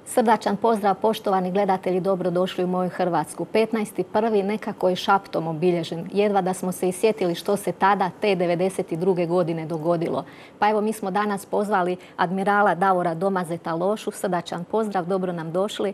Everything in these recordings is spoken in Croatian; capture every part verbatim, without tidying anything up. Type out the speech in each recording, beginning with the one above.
Srdačan pozdrav, poštovani gledatelji, dobrodošli u moju Hrvatsku. petnaesti prvi nekako je šaptom obilježen. Jedva da smo se isjetili što se tada, te devedeset druge godine dogodilo. Pa evo, mi smo danas pozvali admirala Davora Domazeta Lošu. Srdačan pozdrav, dobro nam došli.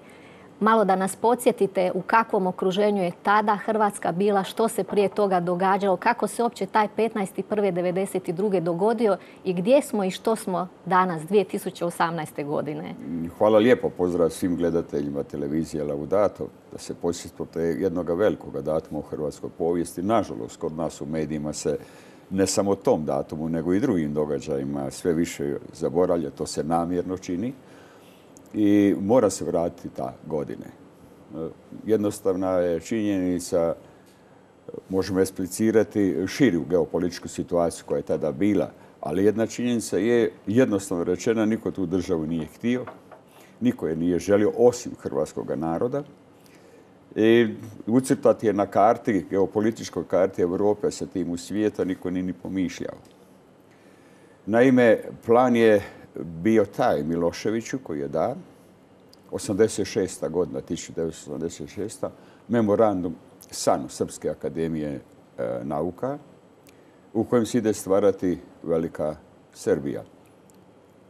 Malo da nas podsjetite u kakvom okruženju je tada Hrvatska bila, što se prije toga događalo, kako se uopće taj petnaesti prvi devedeset druge dogodio i gdje smo i što smo danas dvije tisuće osamnaeste. godine. Hvala lijepo, pozdrav svim gledateljima televizije Laudato. Da se podsjetite jednog velikog datuma u hrvatskoj povijesti. Nažalost, kod nas u medijima se ne samo o tom datumu, nego i drugim događajima sve više zaboravlja. To se namjerno čini. I mora se vratiti ta godine. Jednostavna je činjenica, možemo eksplicirati širu geopolitičku situaciju koja je tada bila, ali jedna činjenica je jednostavno rečena, niko tu državu nije htio, niko je nije želio osim hrvatskog naroda. I ucrtati je na karti, geopolitičkoj karti Europe sa tim u svijeta, niko nije ni pomišljao. Naime, plan je bio taj Miloševiću koji je dan, osamdeset šesta. godina, tisuću devetsto osamdeset šesta. memorandum S A N, Srpske akademije e, nauka, u kojem se ide stvarati velika Srbija.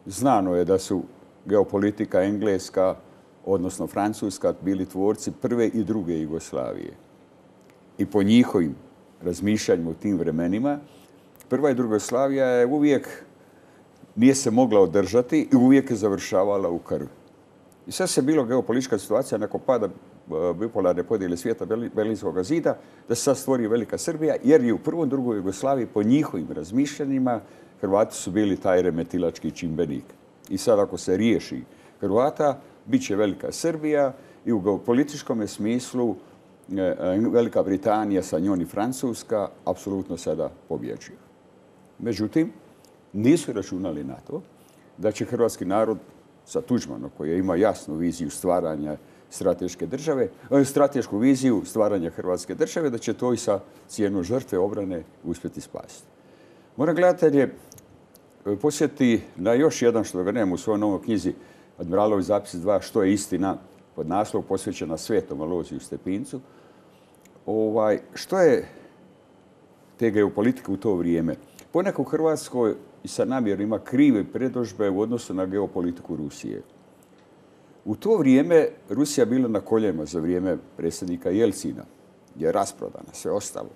Znano je da su geopolitika engleska, odnosno francuska, bili tvorci prve i druge Jugoslavije. I po njihovim razmišljanjima u tim vremenima, prva i druga Jugoslavija je uvijek nije se mogla održati i uvijek je završavala u krvi. I sad se bilo geopolitička situacija nakon pada bipolarne podjele svijeta Berlinskog zida da se sad stvori velika Srbija, jer i u prvoj i drugoj Jugoslaviji po njihovim razmišljanjima Hrvati su bili taj remetilački čimbenik. I sad ako se riješi Hrvata, bit će velika Srbija i u geopolitičkom smislu Velika Britanija, sa njom i Francuska, apsolutno sada pobjeđuju. Međutim, nisu računali na to da će hrvatski narod sa Tuđmanom, koji ima jasnu viziju stvaranja strateške države, stratešku viziju stvaranja hrvatske države, da će to i sa cijenom žrtve obrane uspjeti spasiti. Moram gledatelje posjetiti na još jedan, što ga nemam u svojoj novoj knjizi, Admiralovi zapis dva, što je istina, pod naslov posvećena Svetom Alojziju Stepincu. Ovaj, što je te geopolitike u to vrijeme? Ponekad u Hrvatskoj i sa namjerom ima krive predodžbe u odnosu na geopolitiku Rusije. U to vrijeme Rusija bila na koljenima za vrijeme predsjednika Jelcina, gdje je rasprodana, sve ostalo.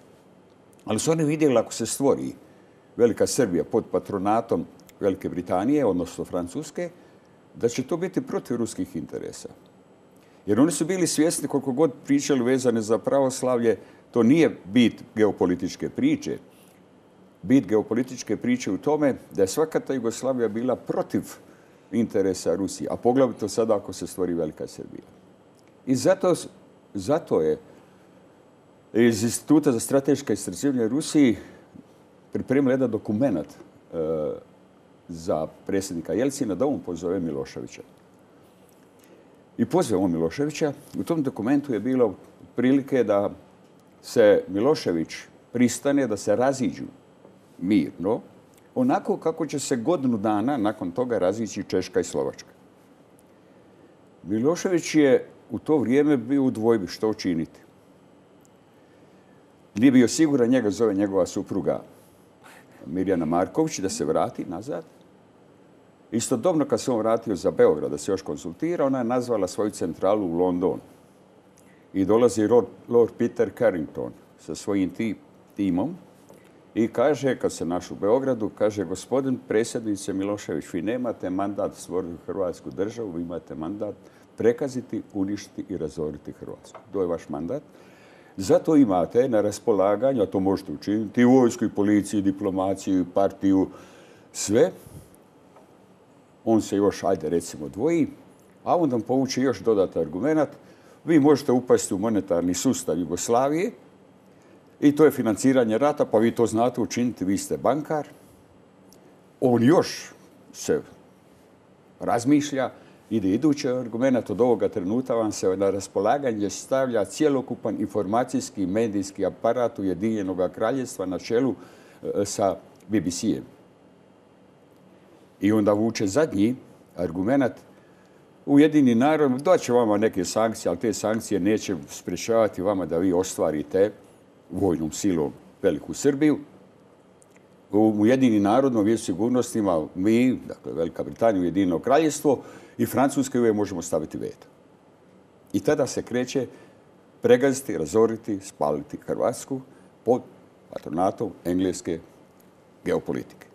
Ali su oni vidjeli ako se stvori velika Srbija pod patronatom Velike Britanije, odnosno Francuske, da će to biti protiv ruskih interesa. Jer oni su bili svjesni, koliko god pričali vezane za pravoslavlje, to nije bit geopolitičke priče. Bit geopolitičke priče u tome da je svaka ta Jugoslavija bila protiv interesa Rusije, a poglavito sada ako se stvori velika Srbija. I zato, zato je iz Instituta za strateška istraživanja Rusiji pripremio jedan dokument e, za predsjednika Jelcina da on pozove Miloševića. I pozvao on Miloševića. U tom dokumentu je bilo prilike da se Milošević pristane da se raziđu mirno, onako kako će se godinu dana nakon toga razići Češka i Slovačka. Milošević je u to vrijeme bio u dvojbi što učiniti. Nije bio siguran, njega zove njegova supruga Mirjana Marković da se vrati nazad. Istodobno kad se on vratio za Beograd da se još konsultira, ona je nazvala svoju centralu u London. I dolazi Lord Peter Carrington sa svojim timom i kaže, kad se naš u Beogradu, kaže, gospodin predsjedniče Milošević, vi nemate mandat stvoriti Hrvatsku državu, vi imate mandat prekaziti, uništiti i razoriti Hrvatsku. To je vaš mandat. Zato imate na raspolaganju, a to možete učiniti, i vojsku, i policiju, i diplomaciju, i partiju, sve. On se još, ajde recimo, dvoji, a onda povuče još dodatan argument. Vi možete upasti u monetarni sustav Jugoslavije i to je financiranje rata, pa vi to znate učiniti, vi ste bankar. On još se razmišlja, ide idući argument, od ovoga trenutka vam se na raspolaganje stavlja cjelokupan informacijski medijski aparat Ujedinjenog kraljevstva na čelu sa B B C-em. I onda vuče zadnji argument, Ujedinjeni narod daće vama neke sankcije, ali te sankcije neće sprječavati vama da vi ostvarite vojnom silom veliku Srbiju. U Ujedinjeni narodnom vijeću sigurnosti ima mi, dakle Velika Britanija, Ujedinjeno kraljevstvo i Francuska uvijek možemo staviti veto. I tada se kreće pregaziti, razoriti, spaliti Hrvatsku pod patronatom engleske geopolitike.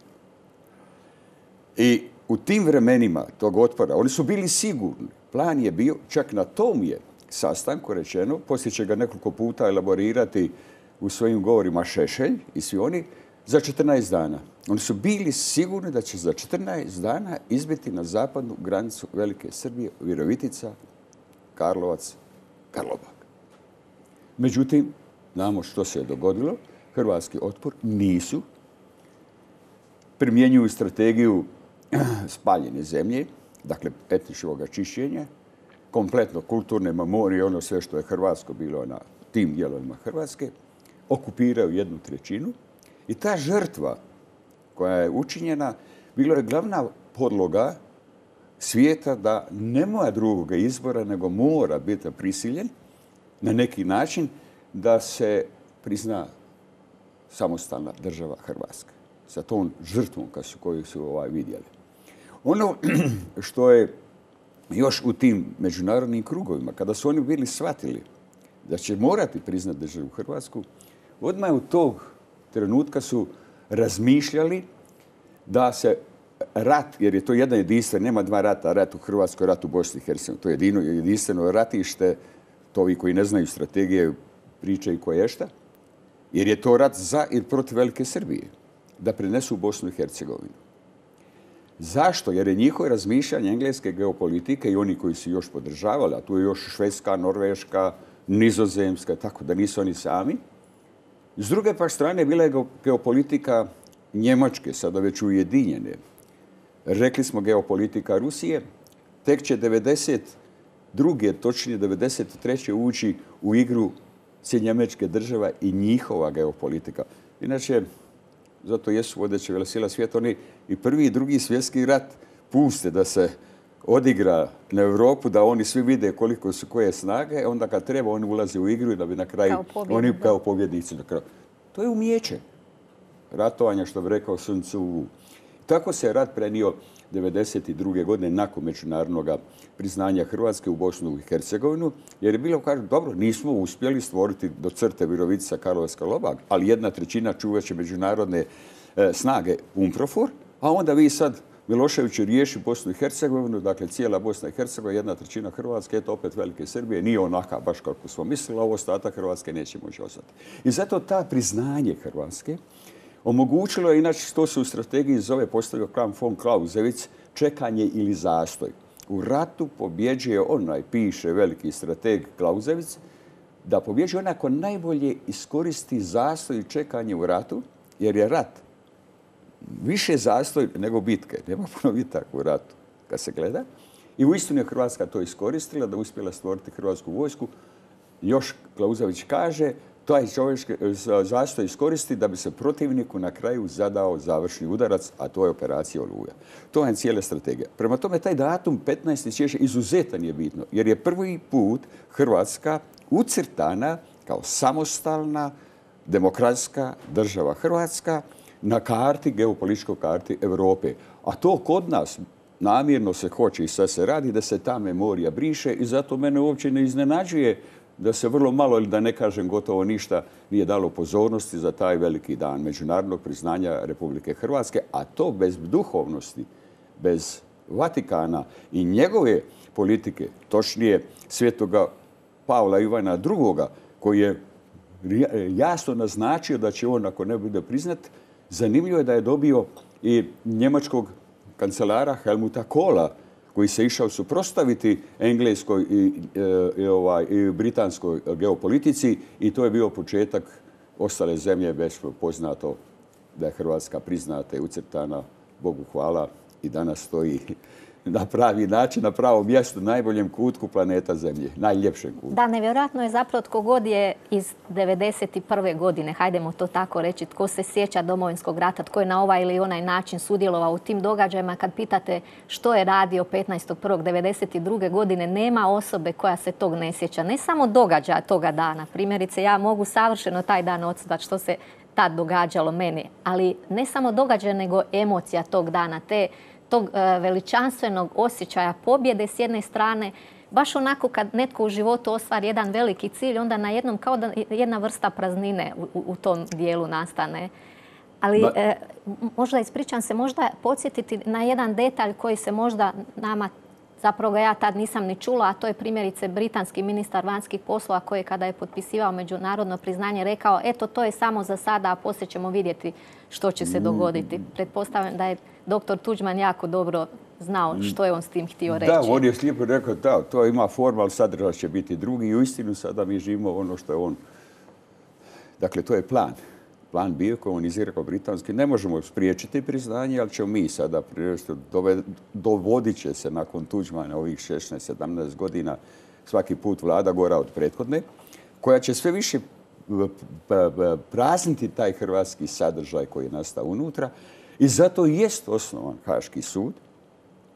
I u tim vremenima tog otpora, oni su bili sigurni. Plan je bio, čak na tom je sastanku rečeno, poslije će ga nekoliko puta elaborirati u svojim govorima Šešelj i svi oni, za četrnaest dana. Oni su bili sigurni da će za četrnaest dana izbiti na zapadnu granicu Velike Srbije, Virovitica, Karlovac, Karlobag. Međutim, znamo što se je dogodilo. Hrvatski otpor nisu. Primjenjuju strategiju spaljene zemlje, dakle etničkog čišćenja, kompletno kulturne memorije, ono sve što je hrvatsko bilo na tim dijelovima Hrvatske, okupiraju jednu trećinu i ta žrtva koja je učinjena bilo je glavna podloga svijeta da nema drugoga izbora nego mora biti prisiljen na neki način da se prizna samostalna država Hrvatska sa tom žrtvom koju su ovaj vidjeli. Ono što je još u tim međunarodnim krugovima, kada su oni bili shvatili da će morati priznati državu Hrvatsku, odmah u tog trenutka su razmišljali da se rat, jer je to jedan jedinstven, nema dva rata, rat u Hrvatskoj, rat u Bosni i Hercegovini. To je jedino jedinstveno ratište, to ovi koji ne znaju strategije pričaju koješta, jer je to rat za i protiv Velike Srbije, da prenesu u Bosnu i Hercegovinu. Zašto? Jer je njihovo razmišljanje engleske geopolitike i oni koji su još podržavali, a tu je još Švedska, Norveška, Nizozemska, tako da nisu oni sami. S druge pak strane bila je geopolitika Njemačke, sada već ujedinjene. Rekli smo geopolitika Rusije, tek će devedeset druge, točnije devedeset treće ući u igru Sjedinjenih Američkih Država i njihova geopolitika. Inače, zato jesu vodeće velesila svijeta, oni i prvi i drugi svjetski rat puste da se odigra na Europu, da oni svi vide koliko su koje snage, onda kad treba oni ulaze u igru i da bi na kraju oni kao pobjednici na kraju. To je umijeće ratovanja, što bi rekao Sun Tzu. Tako se rat prenio devedeset druge godine nakon međunarodnog priznanja Hrvatske u Bosnu i Hercegovinu, jer je bilo, kažu, dobro, nismo uspjeli stvoriti do crte Virovitica, Karlovac, Karlobag, ali jedna trećina čuvaće međunarodne e, snage UNPROFOR, a onda vi sad Milošević riješi Bosnu i Hercegovinu, dakle cijela Bosna i Hercegovina, jedna trećina Hrvatske, eto opet Velike Srbije, nije onaka baš kako smo mislili, a ovo ostatak Hrvatske neće moći ostati. I zato ta priznanje Hrvatske omogućilo je, inače to se u strategiji zove, postavio Kram von Clausewitz, čekanje ili zastoj. U ratu pobjeđuje onaj, piše veliki strateg Clausewitz, da pobjeđuje onaj ko najbolje iskoristi zastoj i čekanje u ratu, jer je rat više zastoj nego bitke. Nema puno bitaka u ratu kad se gleda. I uistinu je Hrvatska to iskoristila, da uspjela stvoriti hrvatsku vojsku. Još Clausewitz kaže, taj čovječki zastoj iskoristi da bi se protivniku na kraju zadao završni udarac, a to je operacija Oluja. To je cijela strategija. Prema tome, taj datum petnaesti siječnja izuzetan je bitno, jer je prvi put Hrvatska ucrtana kao samostalna, demokratska država Hrvatska na karti, geopolitičkoj karti Europe. A to kod nas namjerno se hoće i sad se radi da se ta memorija briše i zato mene uopće ne iznenađuje da se vrlo malo, ili da ne kažem gotovo ništa, nije dalo pozornosti za taj veliki dan međunarodnog priznanja Republike Hrvatske, a to bez duhovnosti, bez Vatikana i njegove politike, točnije Svetoga Pavla Ivana drugoga, koji je jasno naznačio da će on, ako ne bude priznat, zanimljivo je da je dobio i njemačkog kancelara Helmuta Kohla, koji se išao suprotstaviti engleskoj i, i, ovaj, i britanskoj geopolitici, i to je bio početak ostale zemlje, već poznato da je Hrvatska priznata i ucrtana, Bogu hvala, i danas stoji na pravi način, na pravom mjestu, najboljem kutku planeta Zemlje, najljepšem kutku. Da, nevjerojatno je zapravo tko god je iz devedeset prve godine, hajdemo to tako reći, tko se sjeća Domovinskog rata, tko je na ovaj ili onaj način sudjelovao u tim događajima, kad pitate što je radio petnaestog prvog devedeset druge godine, nema osobe koja se tog ne sjeća. Ne samo događaja toga dana. Primjerice, ja mogu savršeno taj dan odsudati što se tad događalo meni, ali ne samo događaja, nego emocija tog dana, te tog veličanstvenog osjećaja pobjede s jedne strane, baš onako kad netko u životu ostvari jedan veliki cilj, onda na jednom kao da jedna vrsta praznine u, u tom dijelu nastane. Ali ba... e, možda, ispričam se, možda podsjetiti na jedan detalj koji se možda nama, zapravo ga ja tad nisam ni čula, a to je primjerice britanski ministar vanjskih poslova koji kada je potpisivao međunarodno priznanje rekao eto to je samo za sada, a poslije ćemo vidjeti što će se dogoditi. Pretpostavljam da je doktor Tuđman jako dobro znao što je on s tim htio reći. Da, on je slijepo rekao da, to ima forma, ali sadržaj će biti drugi i uistinu sada mi živimo ono što je on. Dakle, to je plan. Plan bio komunizirao britanski. Ne možemo spriječiti priznanje, ali ćemo mi sada dovodit će se nakon Tuđmana ovih šesnaest sedamnaest godina svaki put vlada gora od prethodne, koja će sve više prazniti taj hrvatski sadržaj koji je nastao unutra i zato jest osnovan Haški sud.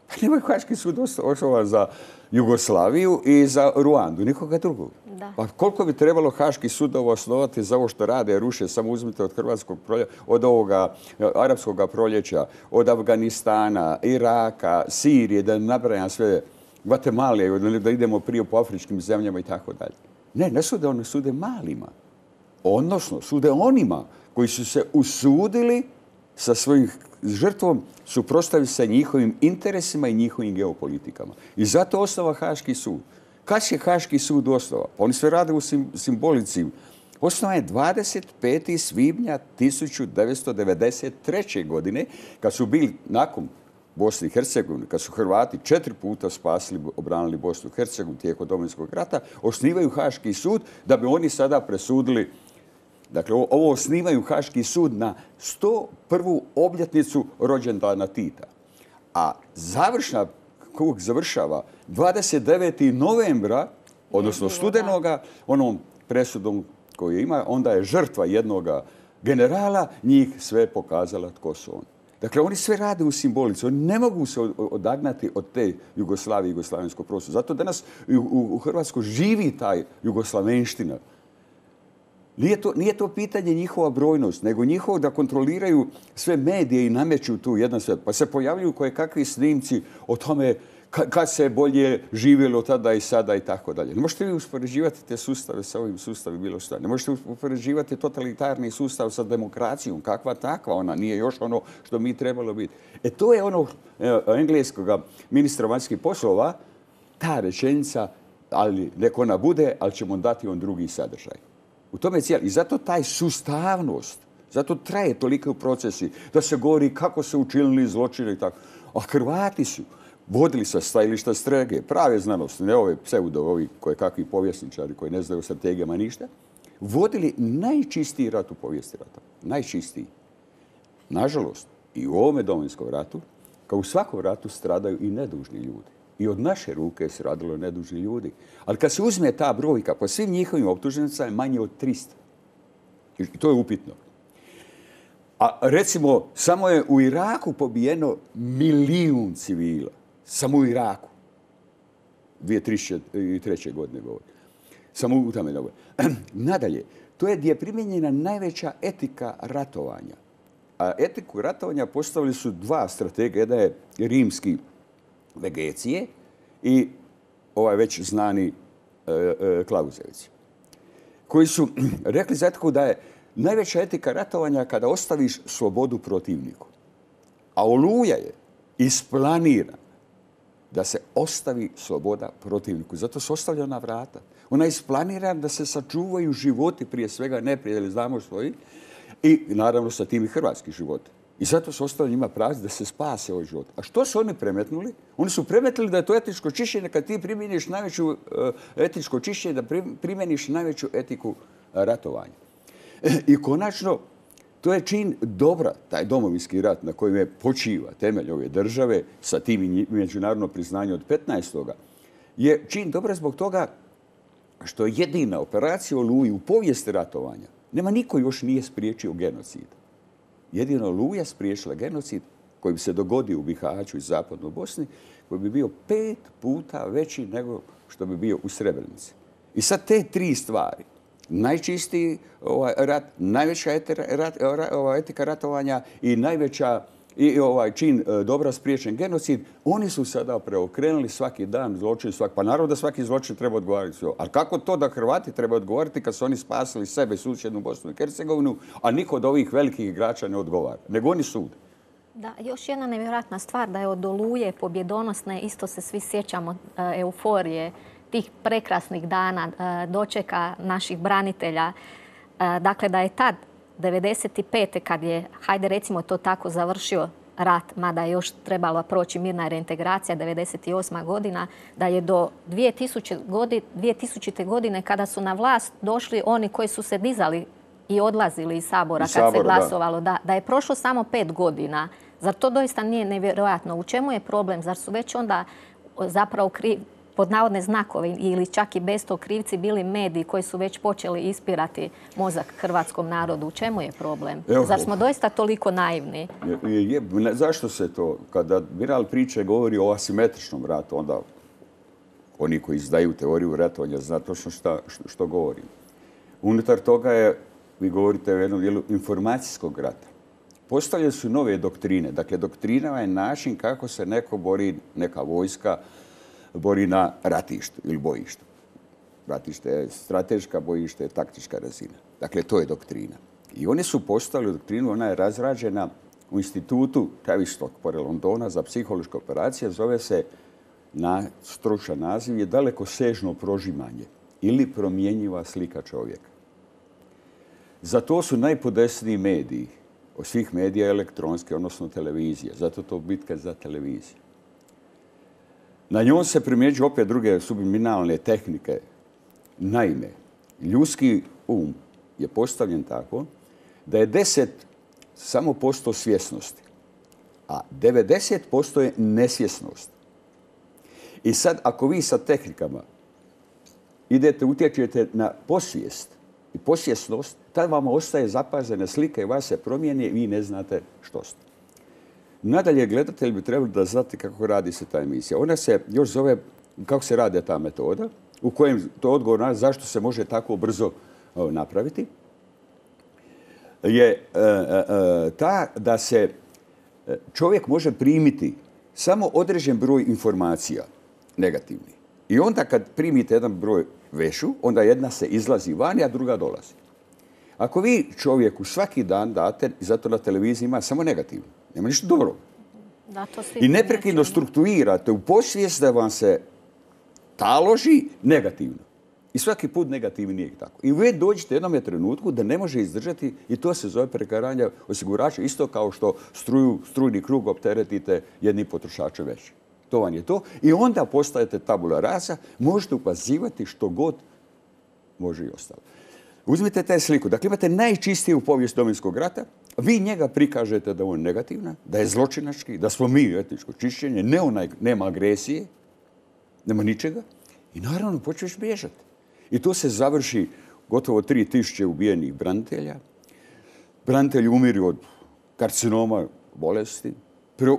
Pa nema Haški sud osnovan za Jugoslaviju i za Ruandu, nikoga drugog. Da. Pa koliko bi trebalo Haški sud osnovati za ovo što rade, ruše, samo uzmite od hrvatskog proljeća, od ovoga arapskog proljeća, od Afganistana, Iraka, Sirije, da nabrajam sve, Gvatemale, da idemo prije po afričkim zemljama i tako dalje. Ne, ne sude one, sude malima. Odnosno, sude onima koji su se usudili sa svojim žrtvom suprotstaviti se njihovim interesima i njihovim geopolitikama. I zato osnova Haški sud. Kad će Haški sud osnova? Pa oni sve rade u simbolici. Osnova je dvadeset petog svibnja tisuću devetsto devedeset treće. godine, kad su bili nakon Bosne i Hercegovine, kad su Hrvati četiri puta spasili, obranili Bosnu i Hercegovinu tijekom Domovinskog rata, osnivaju Haški sud da bi oni sada presudili. Dakle, ovo osnivaju Haški sud na sto prvu obljetnicu rođendana Tita. A završna, kog završava dvadeset devetog novembra, odnosno studenoga, onom presudom koju ima, onda je žrtva jednog generala njih sve pokazala tko su oni. Dakle, oni sve rade u simbolici. Oni ne mogu se odagnati od te Jugoslavije i jugoslavenskog prostora. Zato danas u Hrvatskoj živi taj jugoslavenština. Nije to, nije to pitanje njihova brojnost, nego njihovo da kontroliraju sve medije i nameću tu jedan svijet. Pa se pojavljuju koje kakvi snimci o tome kad se bolje živjelo tada i sada i tako dalje. Ne možete vi uspoređivati te sustave sa ovim sustavim bilo šta. Ne možete uspoređivati totalitarni sustav sa demokracijom. Kakva takva ona nije još ono što mi trebalo biti. E to je ono engleskog ministra vanjskih poslova, ta rečenica, ali nek ona bude, ali ćemo dati on drugi sadržaj. U tome je cijeli. I zato taj sustavnost, zato traje toliko u procesi da se govori kako se učinili zločine i tako. A Hrvati su vodili sa stajališta strege, prave znanosti, ne ove pseudo, ovi koje kakvi povjesničari koji ne znaju o strategijama ništa, vodili najčistiji rat u povijesti rata. Najčistiji. Nažalost, i u ovome Domovinskom ratu, kao u svakom ratu, stradaju i nedužni ljudi. I od naše ruke se radilo nedužni ljudi. Ali kad se uzme ta brojka, po svim njihovim optuženicama je manje od trista. I to je upitno. A recimo, samo je u Iraku pobijeno milijun civila. Samo u Iraku. dvije tisuće treće. godine govori. Samo u tome govori. Nadalje, to je gdje je primijenjena najveća etika ratovanja. A etiku ratovanja postavili su dva stratega. Jedna je rimski Vegecije i ovaj već znani e, e, Klauzevici, koji su rekli za etiku da je najveća etika ratovanja kada ostaviš slobodu protivniku. A Oluja je isplanirana da se ostavi sloboda protivniku. Zato se ostavlja na vrata. Ona je isplanirana da se sačuvaju životi, prije svega neprijatelji, znamo svoji, i naravno sa tim i hrvatski životi. I zato su ostali njima prazni da se spase ovaj život. A što su oni premetnuli? Oni su premetnuli da je to etičko čišćenje kad ti primjeniš najveću uh, etičko čišćenje, da primjeniš najveću etiku uh, ratovanja. I konačno, To je čin dobra, taj domovinski rat na kojem je počiva temelj ove države sa tim međunarodno priznanje od petnaestoga je čin dobra zbog toga što je jedina operacija Oluji u povijesti ratovanja. Nema niko još nije spriječio genocid. Jedino Oluja spriječila genocid koji bi se dogodio u Bihaću i zapadnoj Bosni, koji bi bio pet puta veći nego što bi bio u Srebrenici. I sad te tri stvari, najčistiji ovaj, rat, najveća etika, rat, ovaj, etika ratovanja i najveća i ovaj čin dobra spriječen genocid, oni su sada preokrenuli svaki dan zločin, svaki, pa naravno da svaki zločin treba odgovarati. Ali kako to da Hrvati treba odgovarati kad su oni spasili sebe, susjednu Bosnu i Hercegovinu, a niko od ovih velikih igrača ne odgovara, nego oni sude. Da, još jedna nevjerojatna stvar da je od Oluje pobjedonosne, isto se svi sjećamo euforije tih prekrasnih dana, dočeka naših branitelja. Dakle, da je tad, devedeset pete kad je, hajde recimo to tako, završio rat, mada je još trebala proći mirna reintegracija, devedeset osma godina, da je do dvije tisućite. godine kada su na vlast došli oni koji su se dizali i odlazili iz Sabora iz kad sabora, se glasovalo, da. Da, da je prošlo samo pet godina. Zar to doista nije nevjerojatno? U čemu je problem? Zar su već onda zapravo kriv, pod navodne znakove ili čak i bez tog krivci bili mediji koji su već počeli ispirati mozak hrvatskom narodu? U čemu je problem? Evo, Zar smo doista toliko naivni? Je, je, ne, zašto se to, kada Admiral Priče govori o asimetričnom ratu, onda oni koji izdaju teoriju ratovanja zna točno šta, što, što govori. Unutar toga je, vi govorite o jednom dijelu informacijskog rata. Postavljene su nove doktrine. Dakle, doktrina je način kako se neko bori, neka vojska, bori na ratištu ili bojištu. Ratište je strateška, bojište je taktička razina. Dakle, to je doktrina. I oni su postavili doktrinu, ona je razrađena u institutu Tavistock pored Londona za psihološke operacije. Zove se, na stručan naziv je dalekosežno prožimanje ili promjenjiva slika čovjeka. Za to su najpodesniji mediji, od svih medija elektronske, odnosno televizije. Zato to bitka za televiziju. Na njom se primjeđuju opet druge subliminalne tehnike. Naime, ljudski um je postavljen tako da je deset samo posto svjesnosti, a devedeset posto je nesvjesnost. I sad, ako vi sa tehnikama idete, utječete na posvijest i posvjesnost, tad vam ostaje zapazena slika i vas se promijeni i vi ne znate što ste. Nadalje, gledatelj bi trebali da znati kako radi se ta emisija. Ona se još zove, kako se radi ta metoda, u kojem to odgovor na zašto se može tako brzo napraviti, je e, e, ta da se čovjek može primiti samo određen broj informacija negativnih. I onda kad primite jedan broj vešu, onda jedna se izlazi vani, a druga dolazi. Ako vi čovjeku svaki dan date, i zato na televiziji ima samo negativno, nema ništa dobro. Da, to I neprekidno strukturirate u posvijest da vam se taloži negativno. I svaki put negativni nije tako. I vi dođete jednom trenutku da ne može izdržati i to se zove prekaranje osigurača, isto kao što struju, strujni krug opteretite jedni potrošače veći. To vam je to. I onda postajete tabula rasa, možete ukazivati što god može i ostalo. Uzmite taj sliku. Dakle, imate najčistiju povijest Domovinskog rata. Vi njega prikažete da je on negativna, da je zločinački, da smo mi etničko čišćenje, ne onaj, nema agresije, nema ničega. I naravno počneš bježati. I to se završi gotovo tri tisuće ubijenih branitelja. Branitelji umiru od karcinoma bolesti.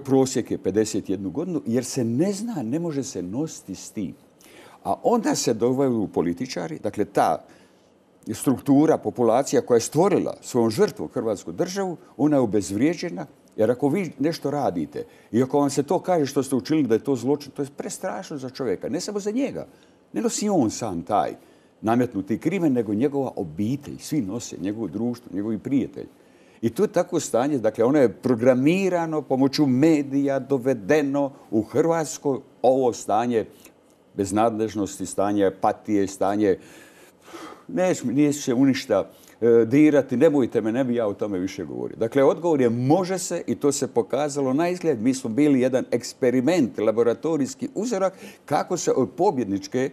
Prosjek je pedeset jednu godinu jer se ne zna, ne može se nositi s tim. A onda se dovaju političari, dakle ta struktura, populacija koja je stvorila svojom žrtvom Hrvatsku državu, ona je obezvrijeđena, jer ako vi nešto radite i ako vam se to kaže što ste učinili da je to zločin, to je prestrašno za čovjeka, ne samo za njega. Ne nosi on sam taj nametnuti krimen, nego njegova obitelj, svi nose, njegovo društvo, njegovi prijatelji. I to je tako stanje, dakle ono je programirano pomoću medija, dovedeno u Hrvatsko ovo stanje beznadležnosti, stanje apatije, stanje neće se u ništa e, dirati, nemojte me, ne bi ja o tome više govorio. Dakle, odgovor je može se i to se pokazalo na izgled. Mi smo bili jedan eksperiment, laboratorijski uzorak kako se od pobjedničke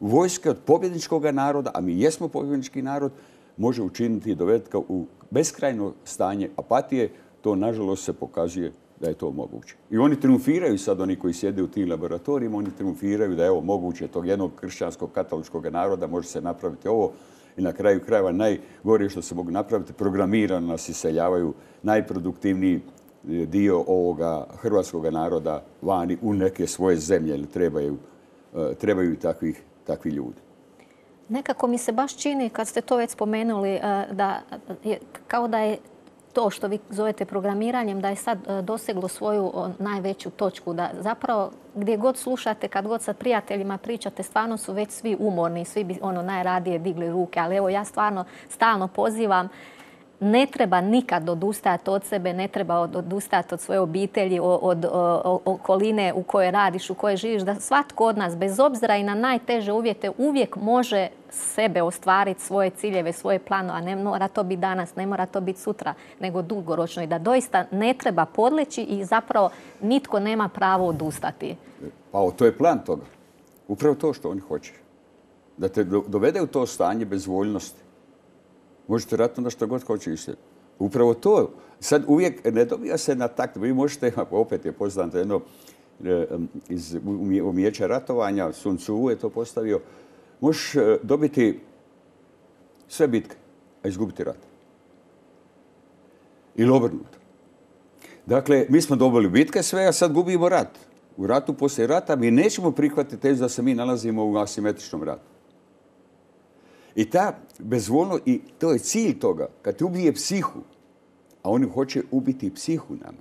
vojske, od pobjedničkog naroda, a mi jesmo pobjednički narod, može učiniti dovedka u beskrajno stanje apatije, to nažalost se pokazuje da je to moguće. I oni triumfiraju sad, oni koji sjede u tim laboratorijima, oni triumfiraju da je ovo moguće, tog jednog kršćanskog katoličkog naroda može se napraviti ovo i na kraju krajeva najgore što se mogu napraviti, programirano nas iseljavaju najproduktivniji dio ovoga hrvatskog naroda vani u neke svoje zemlje, ili trebaju, trebaju takvih, takvi ljudi. Nekako mi se baš čini, kad ste to već spomenuli, da je, kao da je to što vi zovete programiranjem, da je sad doseglo svoju najveću točku. Da zapravo gdje god slušate, kad god sa prijateljima pričate, stvarno su već svi umorni, svi bi ono najradije digli ruke. Ali evo, ja stvarno stalno pozivam, ne treba nikad odustajati od sebe, ne treba odustajati od svoje obitelji, od okoline u kojoj radiš, u kojoj živiš, da svatko od nas, bez obzira i na najteže uvjete, uvijek može sebe ostvariti, svoje ciljeve, svoje planove, a ne mora to biti danas, ne mora to biti sutra, nego dugoročno, i da doista ne treba podleći i zapravo nitko nema pravo odustati. Pa to je plan toga. Upravo to što oni hoće. Da te dovede u to stanje bezvoljnosti. Možete raditi onda što god hoćete. Upravo to. Sad uvijek ne dobija se na takt. Vi možete, opet je poznato jedno iz umijeća ratovanja, Sun Tzu je to postavio, možeš dobiti sve bitke, a izgubiti rat. Ili obrnuto. Dakle, mi smo dobili bitke sve, a sad gubimo rat. U ratu poslije rata mi nećemo prihvatiti tezu da se mi nalazimo u asimetričnom ratu. I ta bezvoljno, i to je cilj toga, kad te ubije psihu, a oni hoće ubiti psihu nama.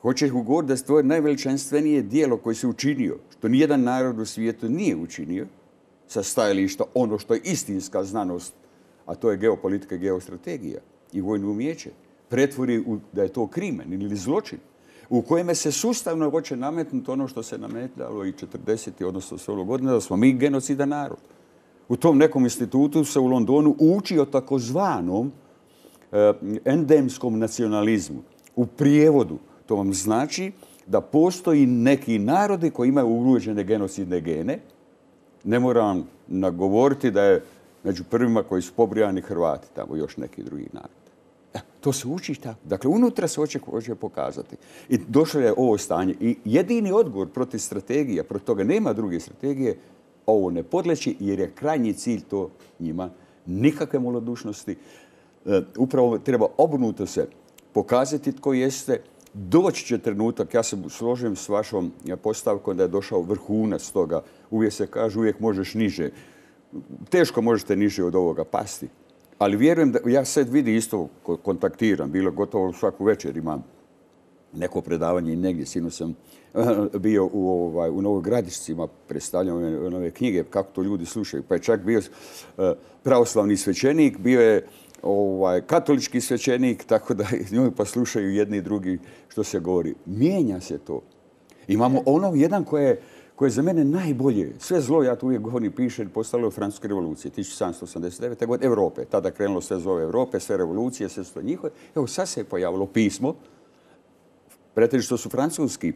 Hoće govoriti da je tvoje najveličanstvenije dijelo koje se učinio, što nijedan narod u svijetu nije učinio, sa stajališta ono što je istinska znanost, a to je geopolitika i geostrategija i vojno umijeće, pretvori u, da je to krimen ili zločin, u kojem se sustavno hoće nametnuti ono što se nametljalo i četrdeset, odnosno sto godina, da smo mi genocidan narod. U tom nekom institutu se u Londonu uči o takozvanom eh, endemskom nacionalizmu. U prijevodu to vam znači da postoji neki narodi koji imaju urođene genocidne gene. Ne moram nagovoriti da je među prvima koji su pobrijani Hrvati, tamo još neki drugi narod. E, to se uči tako. Dakle, unutra se hoće, hoće pokazati. I došlo je ovo stanje. I jedini odgovor protiv strategija, protiv toga nema druge strategije, ovo ne podleći jer je krajnji cilj to njima. Nikakve malodušnosti. E, upravo treba obrnuto se pokazati tko jeste. Doći će trenutak, ja se složim s vašom postavkom da je došao vrhunac toga. Uvijek se kaže, uvijek možeš niže. Teško možete niže od ovoga pasti. Ali vjerujem da, ja sad vidim isto, kontaktiram, bilo gotovo svaku večer imam neko predavanje i negdje. Sinoć sam bio u, ovaj, u Novoj Gradišci, predstavljam ove nove knjige, kako to ljudi slušaju. Pa je čak bio pravoslavni svećenik, bio je ovaj, katolički svećenik, tako da njoj pa slušaju jedni i drugi što se govori. Mijenja se to. Imamo ono jedan koje je koje je za mene najbolje. Sve zlo, ja to uvijek govorim, pišem, postalo je u Francuskoj revoluciji, tisuću sedamsto osamdeset devete. godine, Europe. Tada krenulo sve zlo Europe, sve revolucije, sve su njihove. Evo, sad se je pojavilo pismo, pretežito su francuski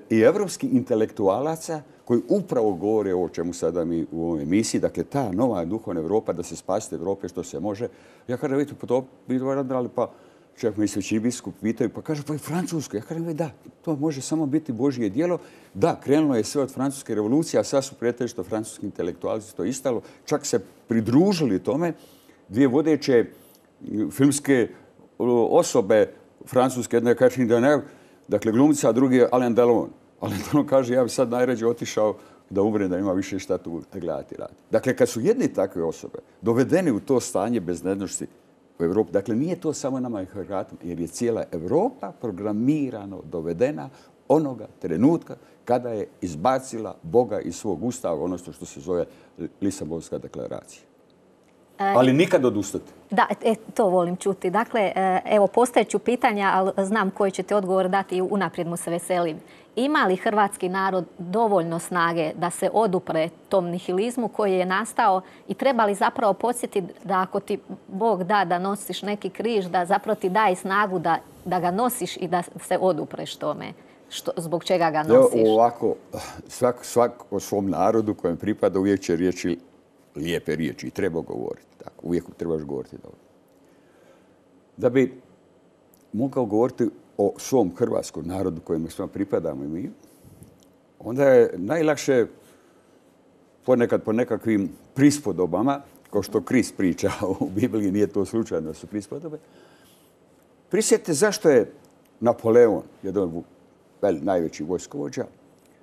i evropski intelektualaca koji upravo govore o čemu sada mi u ovoj emisiji. Dakle, ta nova duhovna Europa, da se spasite Europe što se može. Ja kada vidite, pa to bi radili, pa čak mi svećini biskup pitaju, pa kaže, pa i Francusko. Ja kažem, da, to može samo biti Božje djelo. Da, krenulo je sve od francuske revolucije, a sad su pretežito francuski intelektualci to istalo. Čak se pridružili tome dvije vodeće filmske osobe francuske, jedna je Catherine Deneuve, dakle glumca, a drugi je Alain Delon. Alain Delon kaže, ja bi sad najrađe otišao da umre, da ima više šta tu gledati radi. Dakle, kad su jedne takve osobe dovedeni u to stanje beznadnosti u Evropi, dakle, nije to samo nama i Hrvatima, jer je cijela Europa programirano dovedena onoga trenutka kada je izbacila Boga iz svog ustava, ono što se zove Lisabonska deklaracija. Ali nikad odustati. Da, e, to volim čuti. Dakle, evo, postavit pitanja, ali znam koji ćete odgovor dati i unaprijed mu se veselim. Ima li hrvatski narod dovoljno snage da se odupre tom nihilizmu koji je nastao i treba li zapravo podsjetiti da ako ti Bog da da nosiš neki križ, da zapravo ti daje snagu da, da ga nosiš i da se odupreš tome? Što, zbog čega ga nosiš? Evo, ovako, svak, svak o svom narodu kojem pripada uvijek će riječi lijepe riječi i treba govoriti. Tako, uvijek trebaš govoriti dobro. da bi mogao govoriti o svom hrvatskom narodu kojem smo pripadamo i mi, onda je najlakše ponekad po nekakvim prispodobama, kao što Krist priča u Bibliji, nije to slučajno da su prispodobe. Prisjetite zašto je Napoleon, jedan od najvećih vojskovođa,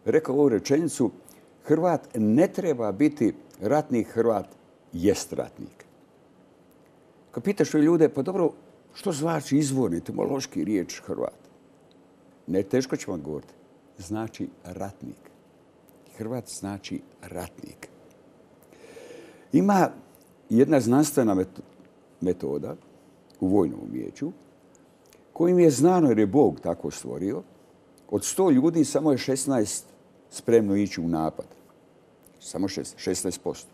rekao ovu rečenicu: Hrvat ne treba biti ratnik, Hrvat jest ratnik. Kad pitaš ljude, pa dobro, što znači izvorni, etimološki riječ Hrvat? Ne, teško ću vam govoriti. Znači ratnik. Hrvat znači ratnik. Ima jedna znanstvena metoda u vojnom umijeću kojim je znano, jer je Bog tako stvorio, od sto ljudi samo je šesnaest spremno ići u napad. Samo šesnaest posto.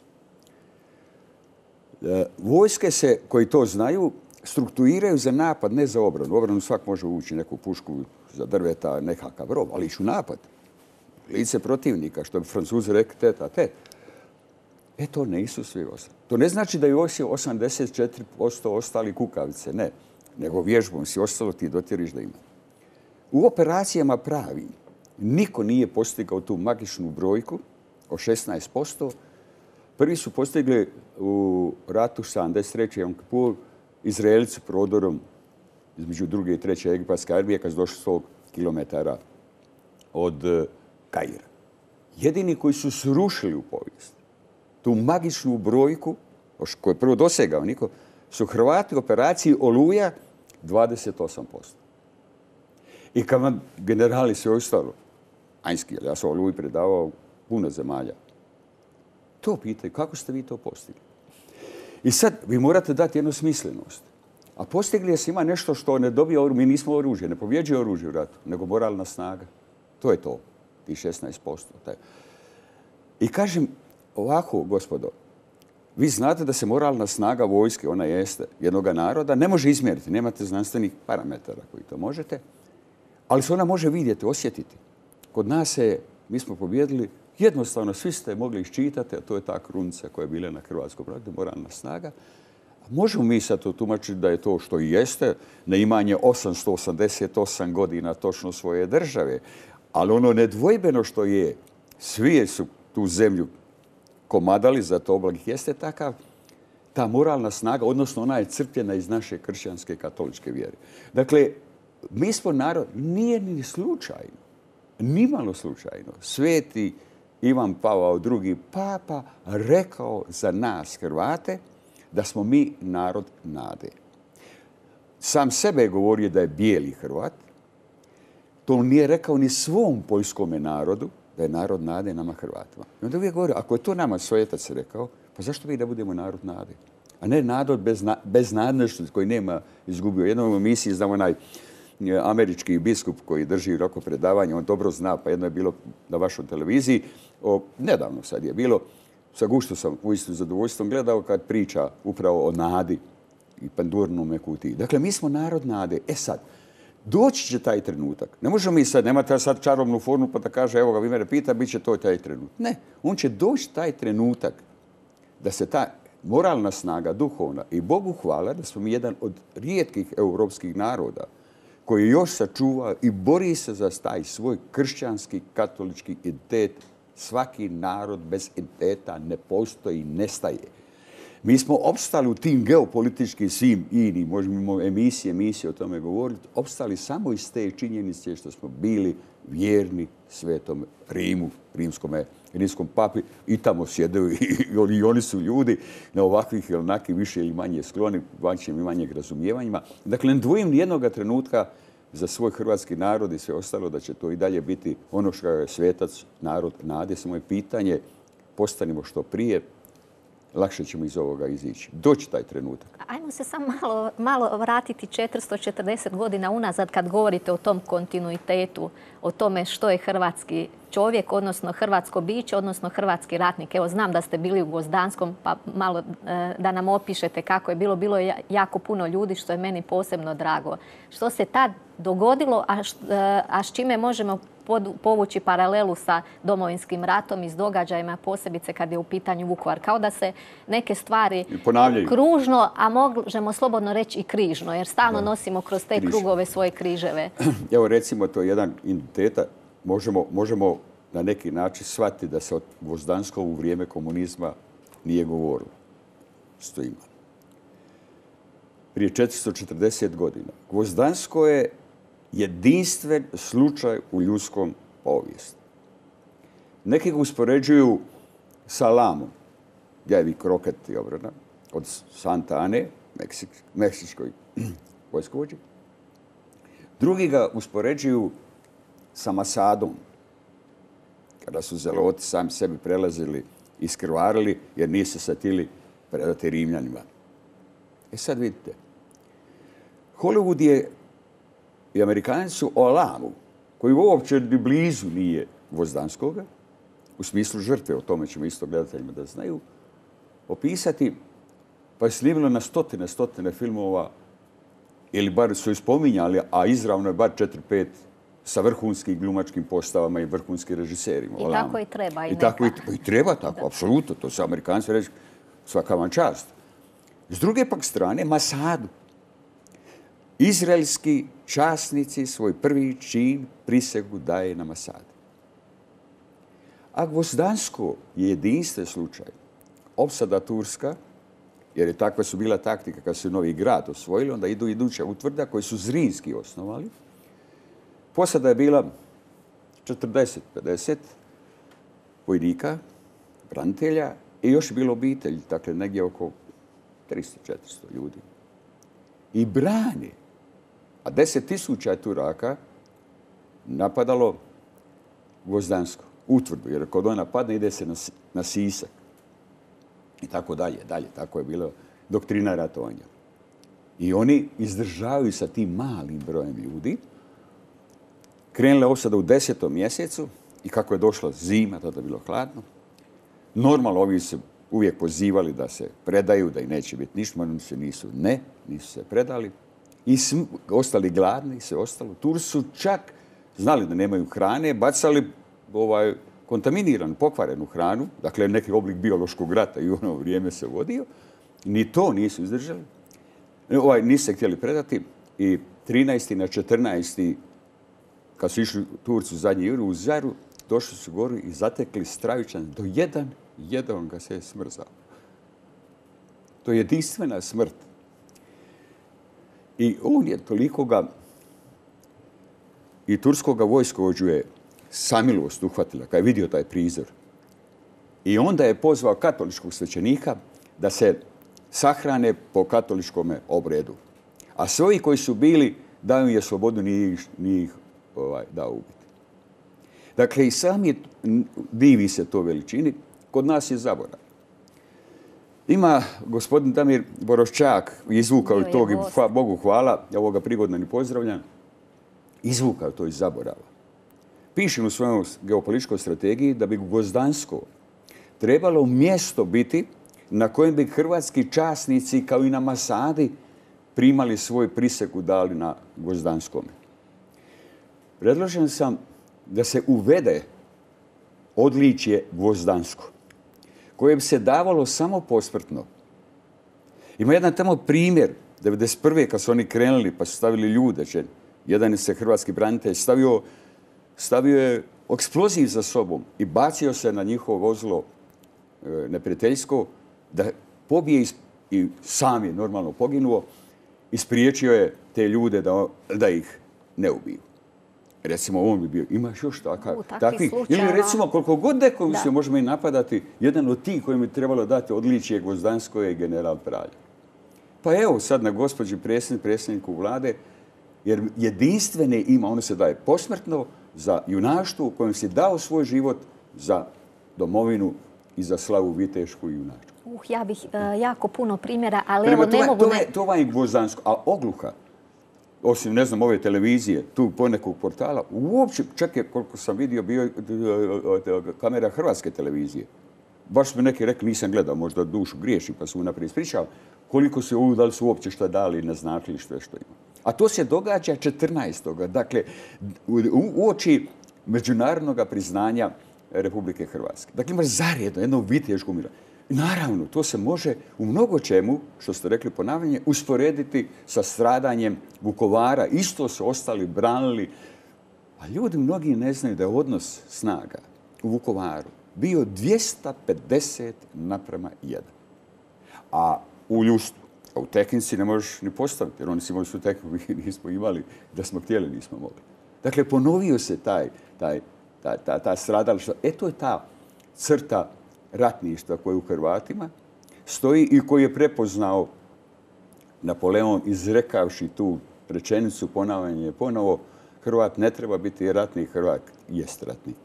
Vojske se, koji to znaju, strukturiraju za napad, ne za obranu. U obranu svak može ući neku pušku za drveta, nekakav rov, ali ići u napad. Lice protivnika, što bi Francuzi rekli tet a tet. E, to nisu svi ostali. To ne znači da je osi osamdeset četiri posto ostali kukavice, ne. Nego vježbom si ostalo, ti dotjeriš da ima. U operacijama pravi niko nije postigao tu magičnu brojku od šesnaest posto. Prvi su postigli u ratu sedamdeset treće. Jom Kipur Izraelci prodorom između druge i treće egipatske armije kad su došli sto kilometara od Kaira. Jedini koji su srušili u povijest tu magičnu brojku, koju je prvo dosegao niko, su Hrvati u operaciji Oluja dvadeset osam posto. I kad vam generali sve ostalo, Anjski, ja sam Oluji predavao puno zemalja, to pitaju, kako ste vi to postigli? I sad vi morate dati jednu smislenost. A postigli se ima nešto što ne dobije oružje. Mi nismo oružje, ne pobjeđuje oružje u ratu, nego moralna snaga. To je to, ti šesnaest posto. I kažem ovako, gospodo, vi znate da se moralna snaga vojske, ona jeste, jednog naroda, ne može izmjeriti. Nemate znanstvenih parametara koji to možete, ali se ona može vidjeti, osjetiti. Kod nas je, mi smo pobjedili, jednostavno svi ste mogli iščitati, a to je ta krunica koja je bila na hrvatskom radu, moralna snaga. Možemo mi sad to tumačiti da je to što i jeste, na imanje osamsto osamdeset osam godina točno svoje države, ali ono nedvojbeno što je, svi su tu zemlju komadali za to oblak, jeste takav, ta moralna snaga, odnosno ona je crpljena iz naše kršćanske katoličke vjere. Dakle, mi smo narod, nije ni slučajno, nimalo slučajno, sveti Ivan Pavao drugi papa rekao za nas Hrvate da smo mi narod nade. Sam sebe je govorio da je bijeli Hrvat. To nije rekao ni svom poljskome narodu, da je narod nade nama Hrvatima. I onda uvijek govorio, ako je to nama svetac rekao, pa zašto mi da budemo narod nade? A ne narod bez, na, bez nadležnosti koji nema izgubio. Jednom u emisiji znam onaj američki biskup koji drži roko predavanje, on dobro zna, pa jedno je bilo na vašoj televiziji, o, nedavno sad je bilo, sa guštom sam uistinu zadovoljstvom gledao kad priča upravo o nadi i pandurnome kutiji. Dakle, mi smo narod nade. E sad, doći će taj trenutak. Ne možemo mi sad, nemate sad čarobnu formu pa da kaže, evo ga, vi mene pita, bit će to taj trenutak. Ne, on će doći taj trenutak da se ta moralna snaga, duhovna, i Bogu hvala da smo mi jedan od rijetkih europskih naroda koji još sačuva i bori se za taj svoj kršćanski, katolički identitet. Svaki narod bez identiteta ne postoji, nestaje. Mi smo opstali u tim geopolitičkim svim inim, možemo emisije, emisije o tome govoriti, opstali samo iz te činjenice što smo bili vjerni Svetom Rimu, rimskome, rimskom papi, i tamo sjedaju i, i oni su ljudi na ovakvih ili onakvih više ili manje skloni, vanjšim i manjeg razumijevanjima. Dakle, ne dvojim nijednoga trenutka za svoj hrvatski narod i sve ostalo da će to i dalje biti ono što je svetac, narod nade. Samo je pitanje, postanimo što prije, lakše ćemo iz ovoga izići. Doći taj trenutak. Ajmo se samo malo, malo vratiti četiristo četrdeset godina unazad kad govorite o tom kontinuitetu, o tome što je hrvatski čovjek, odnosno hrvatsko biće, odnosno hrvatski ratnik. Evo, znam da ste bili u Gvozdanskom, pa malo e, da nam opišete kako je bilo. Bilo je jako puno ljudi, što je meni posebno drago. Što se tad dogodilo, a, š, e, a s čime možemo povući paralelu sa Domovinskim ratom i s događajima, posebice kad je u pitanju Vukovar. Kao da se neke stvari kružno, a možemo slobodno reći i križno, jer stalno da. nosimo kroz te Križ. krugove svoje križeve. Evo recimo, to je jedan identiteta. Možemo, možemo na neki način shvatiti da se od Gvozdanskog u vrijeme komunizma nije govorilo. Stojimo. Prije četiristo četrdeset godina. Gvozdansko je jedinstven slučaj u ljudskom povijesti. Neki ga uspoređuju sa Lamom, Ljevi kroket i obrana, od Santa Ane, Meksik, meksičkoj vojskovođi. Drugi ga uspoređuju sa Masadom, kada su zeloti sami sebi prelazili i skrvarili jer nisu se htjeli predati Rimljanima. E sad vidite, Hollywood je i Amerikanci su o Lamu, koji uopće ni blizu nije Gvozdanskoga, u smislu žrtve, o tome ćemo isto gledateljima da znaju, opisati, pa je snimilo na stotine, stotine filmova, ili bar su ispominjali, a izravno je bar četiri, pet sa vrhunskim glumačkim postavama i vrhunskim režiserima. I tako i treba. I, I tako i, i treba tako, apsolutno. To su Amerikanci reći, svaka vam čast. S druge pak strane, Masadu. Izraelski časnici svoj prvi čin prisegu daje na Masadu. A Gvozdansko je jedinstven slučaj. Opsada Turska, jer je takva su bila taktika kad su Novi Grad osvojili, onda idu iduća utvrda koji su Zrinski osnovali. Posada je bila četrdeset pedeset vojnika, branitelja i još je bilo obitelj, dakle negdje oko tristo četiristo ljudi. I brani, a deset tisuća je Turaka napadalo Gvozdansko, utvrdu, jer kod ona padne ide se na, na Sisak. I tako dalje, dalje. Tako je bilo doktrina ratovanja. I oni izdržavaju sa tim malim brojem ljudi. Krenule opsada u desetom mjesecu i kako je došla zima, tada je bilo hladno. Normalno, ovi se uvijek pozivali da se predaju, da i neće biti ništa, oni se nisu, ne, nisu se predali. I sm, ostali gladni, se ostalo. Turci su čak znali da nemaju hrane, bacali ovaj, kontaminiranu, pokvarenu hranu, dakle neki oblik biološkog rata i u ono vrijeme se vodio. Ni to nisu izdržali. Ovaj, nisu se htjeli predati i trinaesti na četrnaesti kad su išli Turci u zadnji juri u Zaru, došli su goru i zatekli stravičan do jedan, jedan ga se je smrzao. To je jedinstvena smrt. I on je toliko ga i turskoga vojskovođu je samilost uhvatila kad je vidio taj prizor. I onda je pozvao katoličkog svećenika da se sahrane po katoličkom obredu. A svi koji su bili, dao im je slobodu, nije ih, nije ih ovaj, dao ubiti. Dakle, i sam je, divi se to veličini, kod nas je zaborav. Ima gospodin Damir Boroščak, izvukao je tog, i hva, Bogu hvala, ja ovoga prigodno ni pozdravljam, izvukao to iz zaborava. Pišem u svojoj geopolitičkoj strategiji da bi Gvozdansko trebalo mjesto biti na kojem bi hrvatski časnici, kao i na Masadi, primali svoj prisegu dali na Gvozdanskome. Predložen sam da se uvede odličje Gvozdansko, koje bi se davalo samo posmrtno. Ima jedan tamo primjer, devedeset prve kad su oni krenuli pa su stavili ljude, že jedan je se hrvatski branitelj stavio, stavio je eksploziv za sobom i bacio se na njihovo vozilo e, neprijateljsko da pobije i sam je normalno poginuo i spriječio je te ljude da, da ih ne ubiju. Recimo, on bi bio, imaš još takav, U, takvi. Ili recimo, koliko god nekom se možemo i napadati, jedan od tih kojim bi trebalo dati odličje Gvozdansko je general Praljak. Pa evo sad na gospođi predsjednik, predsjedniku vlade, jer jedinstvene ima, ono se daje posmrtno za junaštvo u kojem si dao svoj život za domovinu i za slavu vitešku i junačku. Uh, ja bih uh, jako puno primjera, ali Prema, evo to, ne mogu... To, je, to vam je Gvozdansko, a Ogluha, osim, ne znam, ove televizije, tu ponekog portala, uopće, čak je, koliko sam vidio, bio kamera hrvatske televizije. Baš mi neki rekli, nisam gledao, možda dušu griješim, pa su mu naprijed ispričali, koliko se ovo, da li su uopće šta dali i naznačili što je što ima. A to se događa četrnaestog Dakle, u oči međunarodnog priznanja Republike Hrvatske. Dakle, imaš zaredno jedno viteško mira. Naravno, to se može u mnogo čemu, što ste rekli ponavljanje, usporediti sa stradanjem Vukovara. Isto su ostali, branili. A ljudi mnogi ne znaju da je odnos snaga u Vukovaru bio dvjesto pedeset naprama jedan. A u ljustvu, a u tehnici ne možeš ni postaviti, jer oni su imali su tehniku, mi nismo imali, da smo htjeli, nismo mogli. Dakle, ponovio se taj, taj, ta, ta, ta stradališta. E, to je ta crta ratništva koje u Hrvatima stoji i koji je prepoznao Napoleon izrekavši tu rečenicu, ponavljanje ponovo, Hrvat ne treba biti ratnik, Hrvat jest ratnik.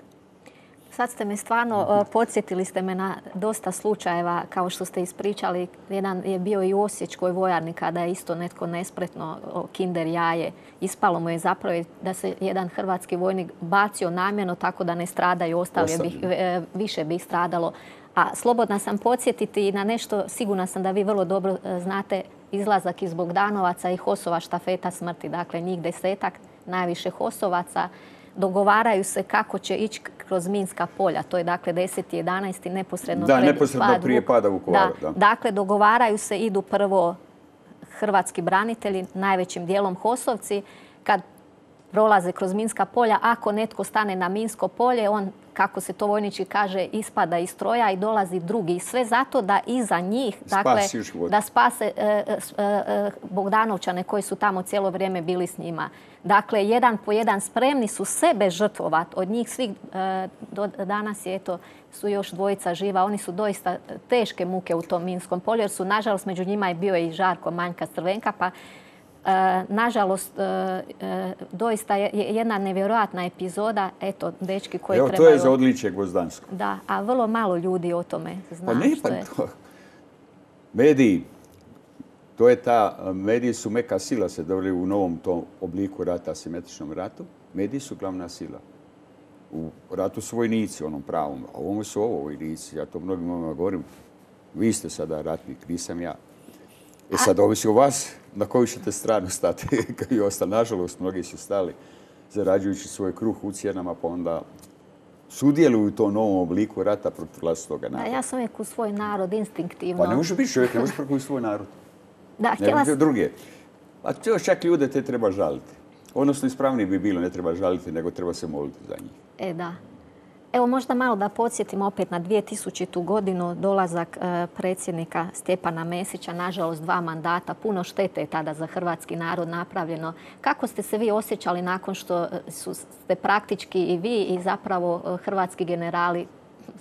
Sad ste me stvarno, podsjetili ste me na dosta slučajeva, kao što ste ispričali. Jedan je bio i u Osječkoj vojarni kada je isto netko nespretno kinder jaje. Ispalo mu je zapravo da se jedan hrvatski vojnik bacio namjerno tako da ne stradaju ostali, jer bih, više bi ih stradalo. A slobodna sam podsjetiti i na nešto, sigurna sam da vi vrlo dobro znate, izlazak iz Bogdanovaca i Hosova štafeta smrti. Dakle, njih desetak, najviše Hosovaca. Dogovaraju se kako će ići kroz minska polja. To je dakle deseti jedanaesti neposredno, da, neposredno pad, prije pada Vukovara. Da. Da. Dakle, dogovaraju se, idu prvo hrvatski branitelji, najvećim dijelom Hosovci. Kad prolaze kroz minska polja, ako netko stane na minsko polje, on, kako se to vojnički kaže, ispada iz stroja i dolazi drugi. I sve zato da iza njih, dakle, da spase e, e, Bogdanovčane koji su tamo cijelo vrijeme bili s njima. Dakle, jedan po jedan spremni su sebe žrtvovati. Od njih svih e, do danas je, eto, su još dvojica živa. Oni su doista teške muke u tom minskom polju, jer su, nažalost, među njima je bio i Žarko Manjka Crvenka, pa E, nažalost, e, e, doista je jedna nevjerojatna epizoda. Eto, dečki koji Evo, trebaju... to je za odličje Gvozdansko. Da, a vrlo malo ljudi o tome zna. Pa ne, pa to... Mediji, to je ta... Mediji su meka sila, se dobili u novom tom obliku rata, asimetričnom ratu. Mediji su glavna sila. U ratu su vojnici, onom pravom. A ovo su ovo vojnici. Ja to mnogim ovima govorim. Vi ste sada ratnik, nisam ja. I sad ovisi o vas na koju ćete stranu stati. Kao i ostali, nažalost, mnogi su stali zarađujući svoj kruh u cijenama, pa onda sudjeluju u tom novom obliku rata protiv vlastitoga naroda. Da, ja sam uvijek u svoj narod, instinktivno. Pa ne može biti čovjek, ne može protiv svoj narod. Da, htjela sam... druge. A to čak ljude te treba žaliti. Odnosno, ispravnije bi bilo, ne treba žaliti, nego treba se moliti za njih. E, da. Evo, možda malo da podsjetimo opet na dvije tisućitu godinu, dolazak e, predsjednika Stjepana Mesića, nažalost dva mandata, puno štete je tada za hrvatski narod napravljeno. Kako ste se vi osjećali nakon što su, ste praktički i vi i zapravo hrvatski generali,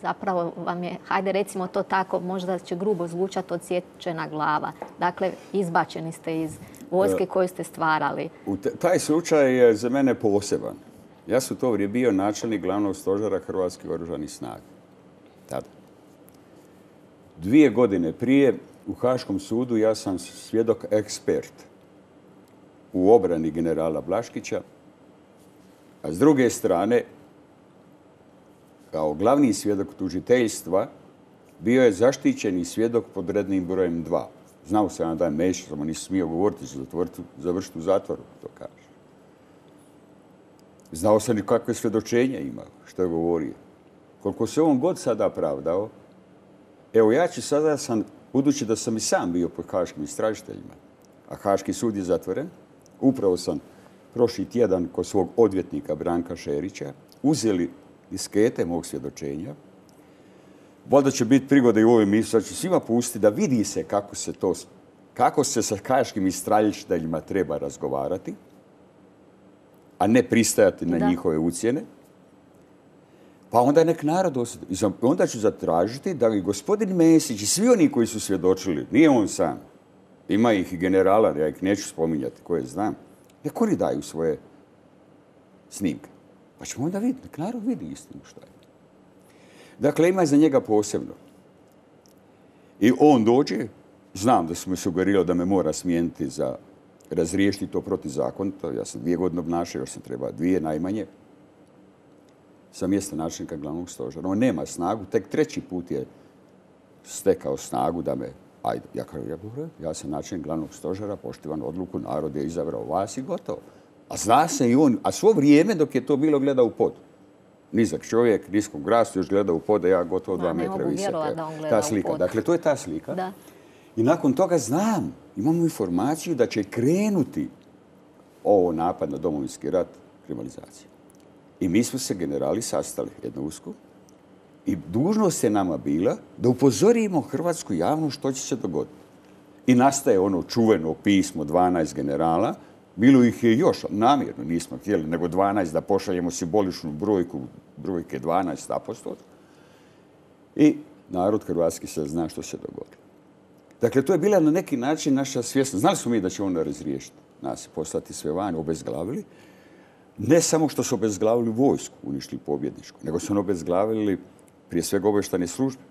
zapravo vam je, hajde recimo to tako, možda će grubo zvučati, odsječena glava. Dakle, izbačeni ste iz vojske koju ste stvarali. U taj slučaj je za mene poseban. Ja sam u to vrijeme bio načelnik glavnog stožera Hrvatskih oružanih snaga. Tada. Dvije godine prije u Haškom sudu ja sam svjedok ekspert u obrani generala Blaškića, a s druge strane, kao glavni svjedok tužiteljstva, bio je zaštićeni svjedok pod rednim brojem dva. Znao sam da je Mesić, samo nisam smio govoriti, završiti u zatvoru, to kaže. Znao sam i kakve svjedočenja ima, što je govorio. Koliko se on god sada pravdao, evo ja ću sada, sam, budući da sam i sam bio pod haškim istražiteljima, a Haški sud je zatvoren, upravo sam prošli tjedan kod svog odvjetnika Branka Šerića uzeli diskete mog svjedočenja. Valjda će biti prigode i u ovoj emisiji, da ću svima pustiti da vidi se kako se to, kako se sa haškim istražiteljima treba razgovarati, a ne pristajati na da. njihove ucjene. Pa onda nek narod osjeti. I onda ću zatražiti da i gospodin Mesić i svi oni koji su svjedočili, nije on sam, ima ih i generala, ja ih neću spominjati koje znam, nek oni daju svoje snimke. Pa ćemo onda vidjeti, nek narod vidi istinu šta je. Dakle, ima za njega posebno. I on dođe, znam da su me sugerirali da me mora smijeniti za razriješiti to protizakonito. Ja sam dvije godine obnašao, još sam treba dvije najmanje, sa mjesta načelnika glavnog stožera. On nema snagu, tek treći put je stekao snagu da me, ajde, ja kažem, ja, ja sam načelnik glavnog stožera, poštivan odluku, narod je izabrao vas i gotovo. A zna se i on, a svo vrijeme dok je to bilo gleda u pod. nizak čovjek, niskog rasta, još gleda u pod, ja gotovo dva metra visok. Ta slika. Dakle, to je ta slika. Da. I nakon toga znam, imamo informaciju da će krenuti ovo napad na Domovinski rat, kriminalizacija. I mi smo se generali sastali jedno usko i dužnost je nama bila da upozorimo hrvatsku javnost što će se dogoditi. I nastaje ono čuveno pismo dvanaest generala. Bilo ih je još, namjerno nismo htjeli, nego dvanaest da pošaljemo simboličnu brojku, brojke dvanaest apostol. I narod hrvatski se zna što se dogodilo. Dakle, to je bila na neki način naša svjesnost. Znali smo mi da će onda razriješiti nas, poslati sve van, obezglavili. Ne samo što su obezglavili vojsku, uništili pobjedničku, nego su oni obezglavili prije svega obavještajne službe.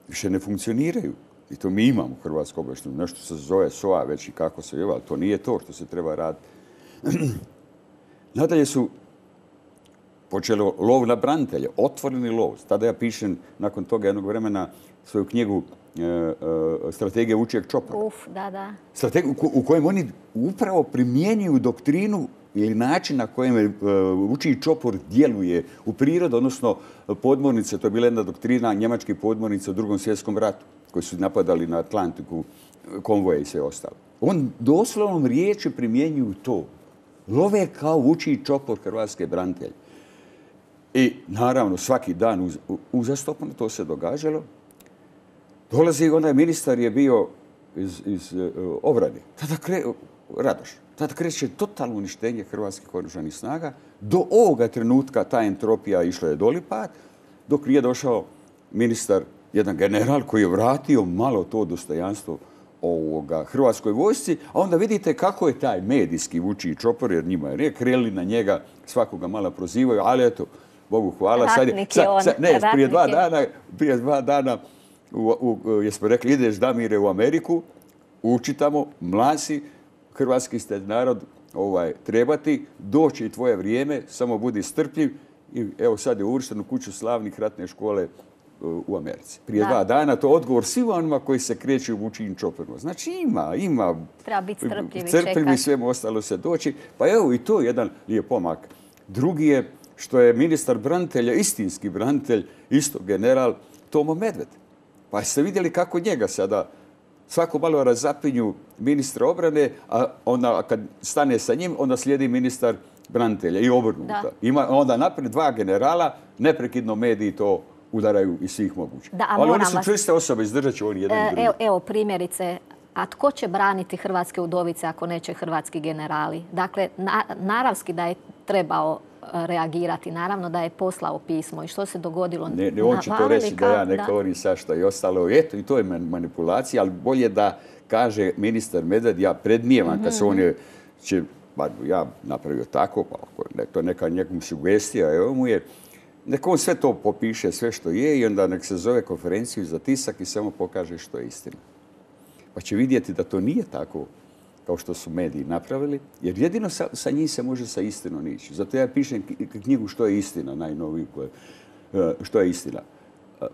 Više ne funkcioniraju. I to mi imamo hrvatsku obavještajnu. Nešto se zove S O A već i kako se je, ali to nije to što se treba raditi. Nadalje su počeli lov na branitelje, otvoreni lov. Tada ja pišem nakon toga jednog vremena svoju knjigu e, e, Strategija vučijeg čopora. Uf, da, da. Strategiju u kojem oni upravo primjenjuju doktrinu ili način na kojem e, vučiji čopor djeluje u prirodu, odnosno podmornice. To je bila jedna doktrina njemačkih podmornica u Drugom svjetskom ratu, koji su napadali na Atlantiku, konvoje i sve ostalo. On doslovnom riječi primjenjuju to. Love kao vučiji čopor hrvatske branitelje. I naravno svaki dan uz, uzastopno to se događalo. Dolazi onaj ministar je bio iz, iz uh, obrane. Tada kre, Radoš. Tada kreće totalno uništenje hrvatskih oružanih snaga. Do ovoga trenutka ta entropija išla je dolipad, dok nije došao ministar, jedan general koji je vratio malo to dostojanstvo ovoga hrvatskoj vojsci, a onda vidite kako je taj medijski vučiji čopor, jer njima je kreli na njega, svakoga malo prozivaju, ali eto, Bogu hvala. Sad je, sad, sad, ne, prije dva dana, prije dva dana u, u, jesmo rekli, ideš Damire u Ameriku, uči tamo, mlasi, hrvatski ste narod ovaj, trebati, doći i tvoje vrijeme, samo budi strpljiv i evo sad je uvršten u kuću slavnih ratne škole u Americi. Prije da. dva dana to je odgovor svima onima koji se kreću u vučijim čoporima. Znači ima, ima. Treba biti strpljiv i Crpljivi i svemu ostalo se doći. Pa evo i to je jedan lijep pomak. Drugi je što je ministar branitelja, istinski branitelj, isto general Tomo Medved. Pa ste vidjeli kako njega sada svako malo razapinju ministra obrane, a onda kad stane sa njim, onda slijedi ministar branitelja i obrnuto. Ima onda naprijed dva generala, neprekidno mediji to udaraju iz svih mogućih. Da, ali oni su čvrste osobe, izdržat će oni jedan i drugi. Evo, evo primjerice, a tko će braniti hrvatske udovice ako neće hrvatski generali? Dakle, na, naravski da je trebao reagirati, naravno da je poslao pismo. I što se dogodilo? Ne, ne on će to reći da ja ne govorim svašta i ostalo. Eto, i to je manipulacija, ali bolje da kaže ministar Medved, ja predmijevam mm-hmm. kad se on je, će, bar ja napravio tako, pa to je neka njegova sugestija, evo mu je, neka on sve to popiše, sve što je i onda nek se zove konferenciju za tisak i samo pokaže što je istina. Pa će vidjeti da to nije tako kao što su mediji napravili, jer jedino sa, sa njih se može sa istinom ići. Zato ja pišem knjigu Što je istina, najnoviju, što je istina,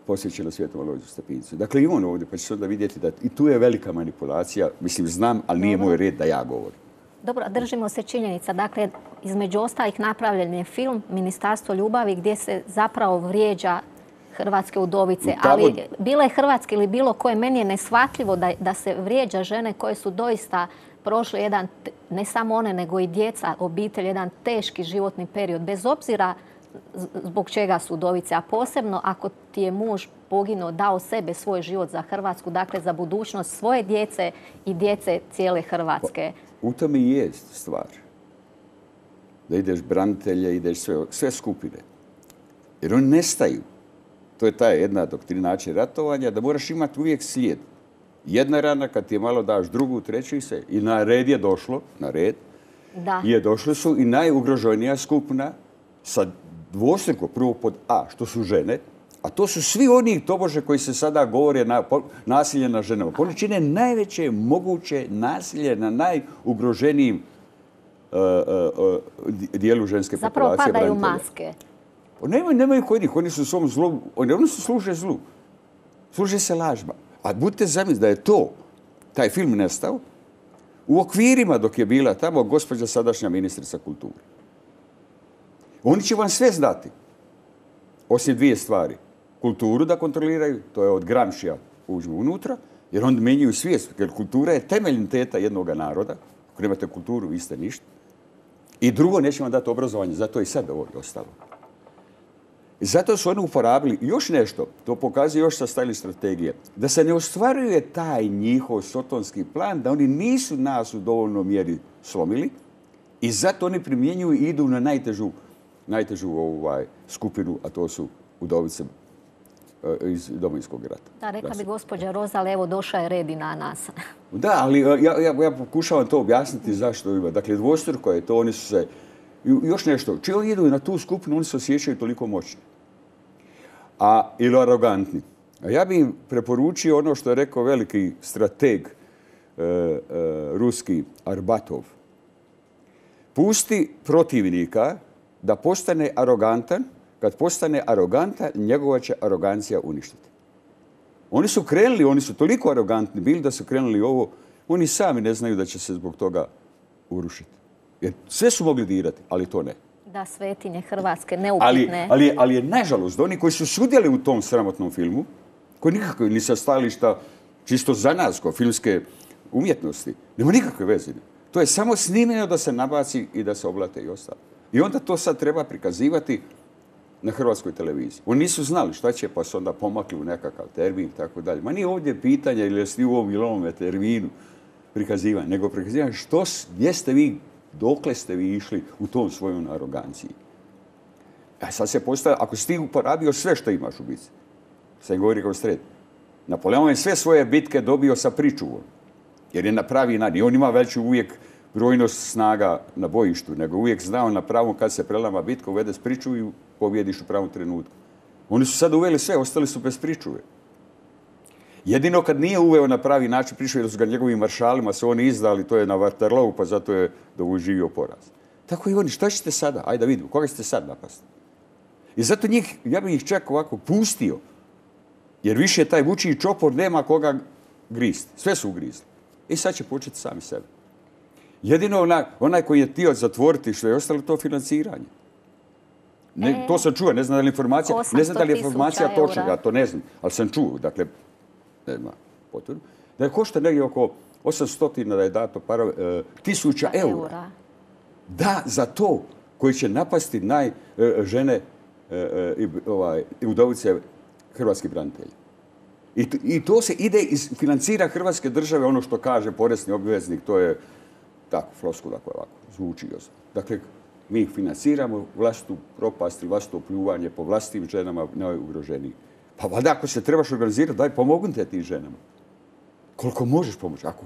posvećena Svetom Alojziju Stepincu. Dakle, i on ovdje, pa će se onda vidjeti da i tu je velika manipulacija. Mislim, znam, ali nije moj red da ja govorim. Dobro, držimo se činjenica. Dakle, između ostalih napravljen je film Ministarstvo ljubavi gdje se zapravo vrijeđa hrvatske udovice. Ali bile hrvatske ili bilo koje, meni je neshvatljivo da, da se vrijeđa žene koje su doista prošle jedan, ne samo one, nego i djeca, obitelj, jedan teški životni period. Bez obzira zbog čega su udovice, a posebno ako ti je muž poginuo, dao sebe, svoj život za Hrvatsku, dakle za budućnost svoje djece i djece cijele Hrvatske. Pa, u tome i jest stvar. Da ideš branitelje, ideš sve, sve skupine. Jer oni nestaju. To je ta jedna doktrina način ratovanja, da moraš imati uvijek slijed. Jedna rana, kad ti je malo daš drugu, treću i se. I na red je došlo, na red, da. je došlo su i najugroženija skupina sa dvostruko, prvo pod A, što su žene, a to su svi oni tobože koji se sada govore na nasilje na ženama. Oni čine najveće moguće nasilje na najugroženijim uh, uh, uh, dijelu ženske Zapravo populacije. Zapravo padaju branitelja. maske. Nemaju, nemaju kod njih, oni su u svom zlu, oni, oni su služe zlu. Služe se lažba. A budite zamisliti da je to, taj film nestao, u okvirima dok je bila tamo gospođa sadašnja ministrica kulture. Oni će vam sve znati. osim dvije stvari. Kulturu da kontroliraju, to je od Gramscija uđu unutra, jer onda menjaju svijest, jer kultura je temelj identiteta jednog naroda. Ako nemate kulturu, vi ste ništa. I drugo, neće vam dati obrazovanje, zato je i sad ovo ostalo. I zato su oni uporabili još nešto, to pokazuje još sa stajali strategije, da se ne ostvaruje taj njihov sotonski plan, da oni nisu nas u dovoljnoj mjeri slomili i zato oni primjenjuju i idu na najtežu, najtežu ovaj, skupinu, a to su udovice iz Domovinskog rata. Da, rekla bi gospođa Rozal, evo došao je red i na nas. Da, ali ja, ja, ja pokušavam to objasniti zašto ima. Dakle, dvostruko je to, oni su se... Još nešto, čiji oni idu na tu skupinu, oni se osjećaju toliko moćni. A, ili arogantni. A ja bih im preporučio ono što je rekao veliki strateg e, e, ruski Arbatov. Pusti protivnika da postane arogantan. Kad postane arogantan, njegova će arogancija uništiti. Oni su krenuli, oni su toliko arogantni bili da su krenuli ovo, oni sami ne znaju da će se zbog toga urušiti. Jer sve su mogli dirati, ali to ne. Da, svetinje Hrvatske, neupitne. Ali, ali, ali je nažalost da oni koji su sudjeli u tom sramotnom filmu, koji nikakve ni sa stajališta čisto za nas, kao filmske umjetnosti, nema nikakve veze. To je samo snimljeno da se nabaci i da se oblate i ostalo. I onda to sad treba prikazivati na hrvatskoj televiziji. Oni nisu znali šta će, pa su onda pomakli u nekakav termin i tako dalje. Ma nije ovdje pitanje ili jeste u ovom ili ovome terminu prikazivanja, nego prikazivanja što, gdje ste vi, dokle ste vi išli u tom svojom aroganciji. A sad se postavlja, ako si ti uporabio sve što imaš u bitci, sad govori kao sred, Napoleon je sve svoje bitke dobio sa pričuvom, jer je na pravi način. I on ima veću uvijek brojnost snaga na bojištu, nego uvijek znao na pravom kad se prelama bitka, uvede s pričuvu i pobjediš u pravom trenutku. Oni su sad uveli sve, ostali su bez pričuve. Jedino kad nije uveo na pravi način pričuve, jer su ga njegovim maršalima se oni izdali, to je na Waterloo, pa zato je doživio poraz. Tako i oni, šta ćete sada? Ajde da vidimo, koga ćete sad napasti? I zato njih, ja bih ih čak ovako pustio, jer više taj vučiji čopor nema koga gristi. Sve su ugrizli. I sad će početi sami sebe. Jedino onaj, onaj koji je htio zatvoriti što je ostalo to financiranje. Ne, e, to sam čuo, ne znam da li informacija, ne znam da li je informacija točna, ja to ne znam, ali sam čuo, dakle, nema potvrdu, da je košta negdje oko osamsto da je dato para, e, tisuća eura. Da, za to koji će napasti naj e, žene e, e, ovaj, udovice hrvatskih branitelja. I, I to se ide iz financira Hrvatske države, ono što kaže porezni obveznik, to je tako, floskula koja ovako zvuči. Dakle, mi ih financiramo vlastitu propast ili vlastito pljuvanje po vlastitim ženama najugroženijih. Pa valjda ako se trebaš organizirati, daj pomognite tim ženama. Koliko možeš pomoći. Ako,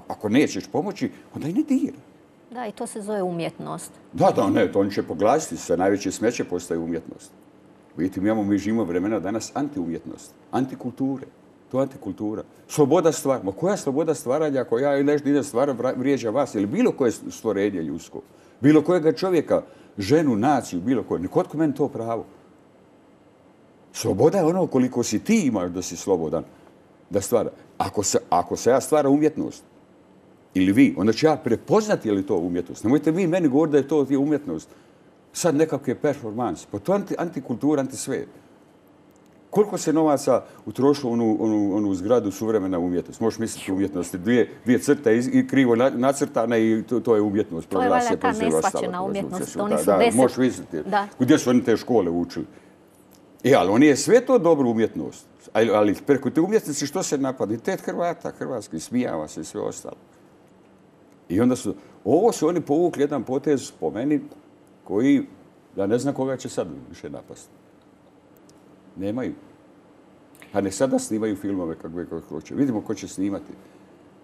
ako nećeš pomoći, onda i ne dira. Da, i to se zove umjetnost. Da, da, ne, to oni će poglasiti. Sve najveće smeće postaje umjetnost. Vidite, mi imamo, mi živimo vremena danas antiumjetnost, antikulture. To je antikultura. Sloboda stvaranja. Ma koja sloboda stvaranja ako ja nešto idem stvaram vrijeđa vas ili bilo koje stvorenje ljudsko? Bilo kojega čovjeka, ženu, naciju, bilo koje. Nikotko meni to pravo. Sloboda je ono koliko si ti imaš da si slobodan da stvara. Ako se, ako se ja stvara umjetnost, ili vi, onda ću ja prepoznati je li to umjetnost. Nemojte vi meni govoriti da je to umjetnost. Sad nekakve performans. Pa to je anti, antikultura, antisvijet. Koliko se novaca utrošilo onu, onu, onu zgradu suvremena umjetnost? Možeš misliti umjetnosti. Dvije, dvije crte i krivo nacrtane i to, to je umjetnost. To je valjda ta neshvaćena umjetnost. Oni su da, deset... možeš misliti. Da. Gdje su oni te škole učili? E, ali oni je sve to dobro umjetnost. Ali, ali preko te umjetnosti što se napada? Identitet Hrvata, Hrvatski, smijava se i sve ostalo. I onda su, ovo su oni povukli jedan potez po meni koji, ja ne znam koga će sad više napasti. Nemaju. Pa ne sada snimaju filmove kako hoće. Vidimo ko će snimati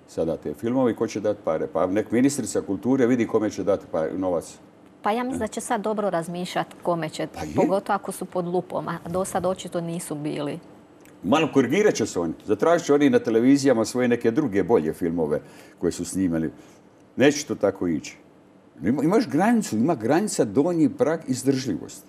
sada te filmove i ko će dati pare. Pa nek ministrica kulture vidi kome će dati novac. Pa ja mislim da će sad dobro razmišljati kome će, pa pogotovo ako su pod lupom, a do sad očito nisu bili. Malo korigirat će se oni. Zatražit će oni na televizijama svoje neke druge bolje filmove koje su snimali. Neće to tako ići. Ima, imaš granicu, ima granica donji prag izdržljivosti.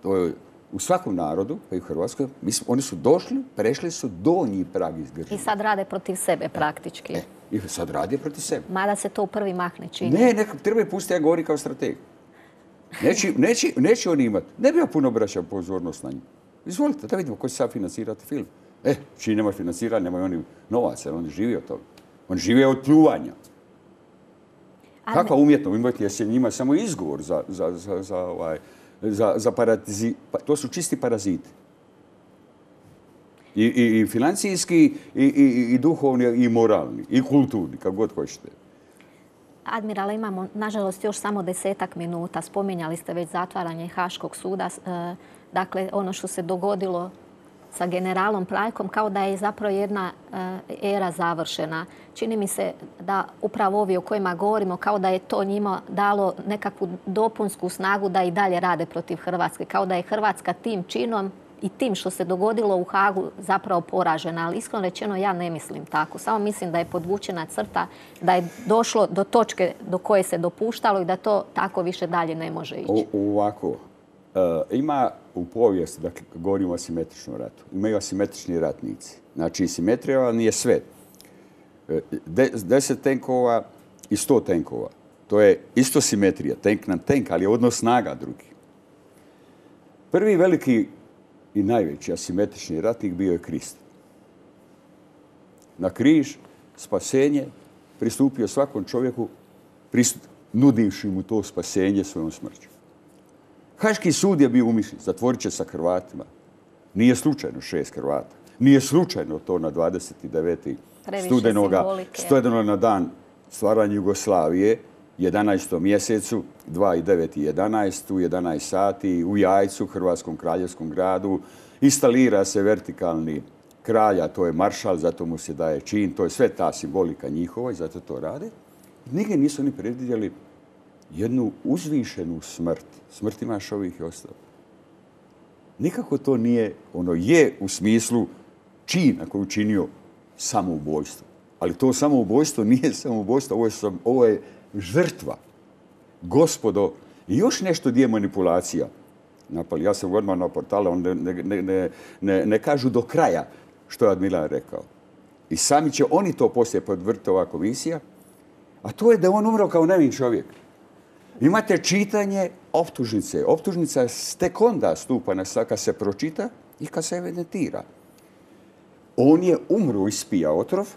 To je u svakom narodu, pa i u Hrvatskoj, oni su došli, prešli su donji prag izdržljivosti. I sad rade protiv sebe praktički. E, I sad rade protiv sebe. Mada se to u prvi mah ne čini. Ne, nekako treba je pustiti, ja govori kao strateg. Neće, neće, neće oni imati. Ne bi ja puno obraćao pozornost na njih. Izvolite, da vidimo ko će sad financirati film. E, čiji nema financiranja, nemaju oni novaca, jer oni žive od toga. Oni žive od pljuvanja. Kakva umjetno umjetnost, jer se njima samo izgovor za, za, za, za, ovaj, za, za paratizi... Pa, to su čisti paraziti. I, i, i financijski, i, i, i duhovni, i moralni, i kulturni, kako god hoćete. Admirale, imamo, nažalost, još samo desetak minuta. Spominjali ste već zatvaranje Haškog suda. Dakle, ono što se dogodilo sa generalom Praljkom, kao da je zapravo jedna era završena. Čini mi se da upravo ovi o kojima govorimo, kao da je to njima dalo nekakvu dopunsku snagu da i dalje rade protiv Hrvatske. Kao da je Hrvatska tim činom i tim što se dogodilo u Hagu zapravo poražena. Ali iskreno rečeno ja ne mislim tako. Samo mislim da je podvučena crta, da je došlo do točke do koje se dopuštalo i da to tako više dalje ne može ići. O, ovako, e, ima u povijesti, dakle, govorimo o asimetričnom ratu, imaju asimetrični ratnici. Znači, simetrija nije sve. De, deset tenkova i sto tenkova. To je isto simetrija, tenk na tenk, ali je odnos snaga drugi. Prvi veliki i najveći asimetrični ratnik bio je Krist. Na križ, spasenje, pristupio svakom čovjeku, nudivši mu to spasenje svojom smrću. Haški sud je bio umišljen, zatvorit će sa Hrvatima. Nije slučajno šest Hrvata. Nije slučajno to na dvadeset devetog studenoga, studenoga na dan stvaranja Jugoslavije, jedanaestom mjesecu, dva i devet i jedanaest, u jedanaest sati, u Jajcu, Hrvatskom kraljevskom gradu, instalira se vertikalni kralj, a to je maršal, zato mu se daje čin, to je sve ta simbolika njihova i zato to rade. Nigdje nisu ni predvidjeli jednu uzvišenu smrt, smrt Imašovih i ostalo. Nikako to nije, ono je u smislu čina koji je učinio samoubojstvo. Ali to samoubojstvo nije samoubojstvo, ovo je, ovo je žrtva. Gospodo, i još nešto gdje je manipulacija. Napali, ja sam odmah na portale, on ne, ne, ne, ne, ne kažu do kraja što je Admiral rekao. I sami će oni to poslije podvrti ova komisija, a to je da je on umro kao nevin čovjek. Imate čitanje optužnice. Optužnica tek onda stupa na kad se pročita i kad se evidentira. On je umro, ispija otrov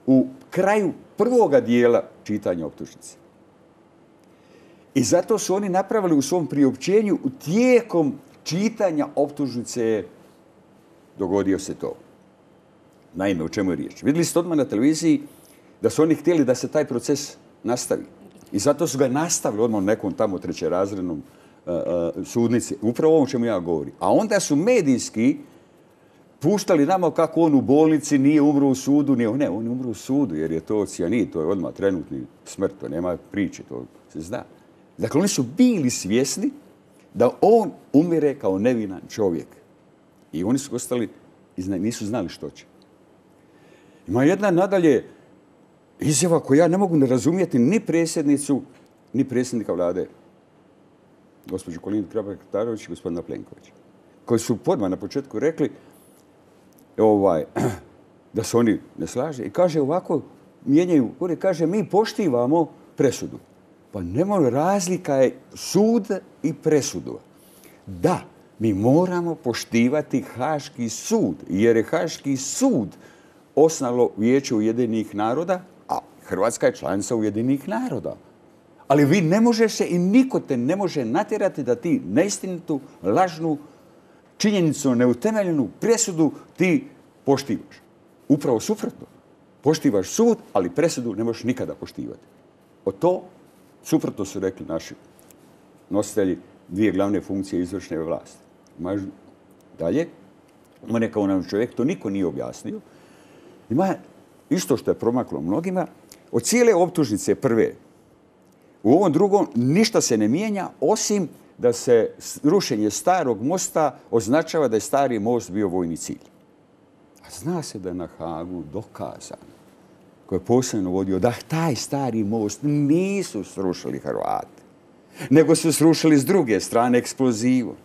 u kraju prvoga dijela čitanja optužnice. I zato su oni napravili u svom priopćenju tijekom čitanja optužnice dogodio se to. Naime, o čemu je riječ? Vidjeli ste odmah na televiziji da su oni htjeli da se taj proces nastavi. I zato su ga nastavili odmah nekom tamo trećerazrednom uh, uh, sudnici. Upravo ovom čemu ja govorim. A onda su medijski puštali nama kako on u bolnici nije umro u sudu. Nije, ne, on je umro u sudu jer je to cijanid, to je odmah trenutni smrt, to nema priče, to se zna. Dakle, oni su bili svjesni da on umire kao nevinan čovjek. I oni su ostali i nisu znali što će. Ima jedna nadalje izjava koju ja ne mogu ne razumjeti ni predsjednicu, ni predsjednika vlade, gospođu Kolindu Grabar-Kitarović i gospodina Plenkovića, koji su podmah na početku rekli ovaj, da se oni ne slaže. I kaže ovako, mijenjaju, kaže mi poštivamo presudu. Pa nemoj, razlika je sud i presudu. Da, mi moramo poštivati Haški sud, jer je Haški sud osnovalo Vijeće Ujedinjenih naroda, a Hrvatska je članica Ujedinjenih naroda. Ali vi ne možeš se i niko te ne može natjerati da ti neistinitu, lažnu, činjenicu neutemeljenu presudu ti poštivaš. Upravo suprotno. Poštivaš sud, ali presudu ne možeš nikada poštivati. O to suprotno su rekli naši nositelji dvije glavne funkcije izvršne vlasti. Dalje, ima neka onaj čovjek, to niko nije objasnio. Ima isto što je promaklo mnogima. Od cijele optužnice prve, u ovom drugom ništa se ne mijenja, osim da se rušenje starog mosta označava da je stari most bio vojni cilj. A zna se da je na Hagu dokazano, koji je posebno vodio, da taj stari most nisu srušili Hrvati, nego su srušili s druge strane eksplozivom.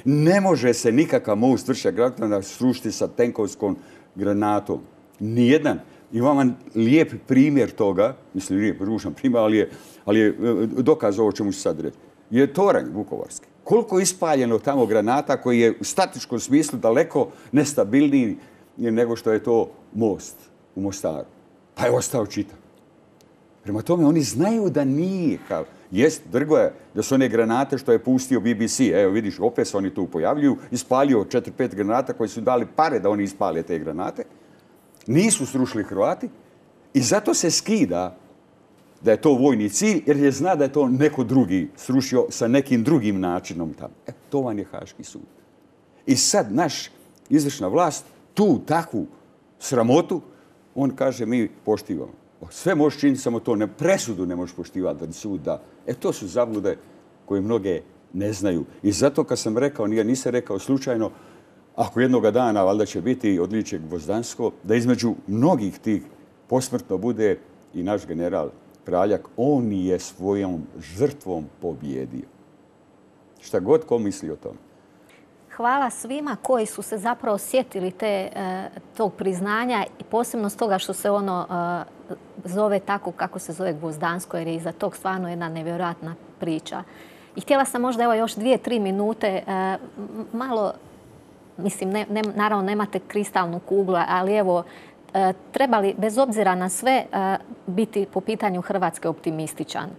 Ne može se nikakav most Vršac-Gradišta srušiti sa tenkovskom granatom. Nijedan. Imam vam lijep primjer toga, mislim lijep, ružan primjer, ali je, ali je dokaz ovo čemu ću sad reći. Je toranj vukovarski. Koliko je ispaljeno tamo granata koji je u statičkom smislu daleko nestabilniji nego što je to most u Mostaru. Pa je ostao čitav. Prema tome, oni znaju da nije kao... Jest, drgo je da su one granate što je pustio B B C. Evo vidiš, opet se oni tu pojavljuju. Ispalio četiri pet granata koji su dali pare da oni ispale te granate. Nisu srušili Hrvati i zato se skida da je to vojni cilj, jer je zna da je to neko drugi srušio sa nekim drugim načinom tamo. E, to vam je Haški sud. I sad naš izvršna vlast tu takvu sramotu, on kaže mi poštivamo. Sve možeš činiti, samo to ne, presudu ne možeš poštivati da sud da. E, to su zablude koje mnoge ne znaju. I zato kad sam rekao, nije, nisam rekao slučajno, ako jednoga dana valjda će biti odličje Gvozdansko, da između mnogih tih posmrtno bude i naš general Praljak, on je svojom žrtvom pobjedio. Šta god ko misli o tome. Hvala svima koji su se zapravo sjetili te, tog priznanja i posebno s toga što se ono zove tako kako se zove Gvozdansko, jer je iza tog stvarno jedna nevjerojatna priča. I htjela sam možda evo još dvije, tri minute malo, mislim, ne, ne, naravno nemate kristalnu kuglu, ali evo, treba li, bez obzira na sve, biti po pitanju Hrvatske optimističan?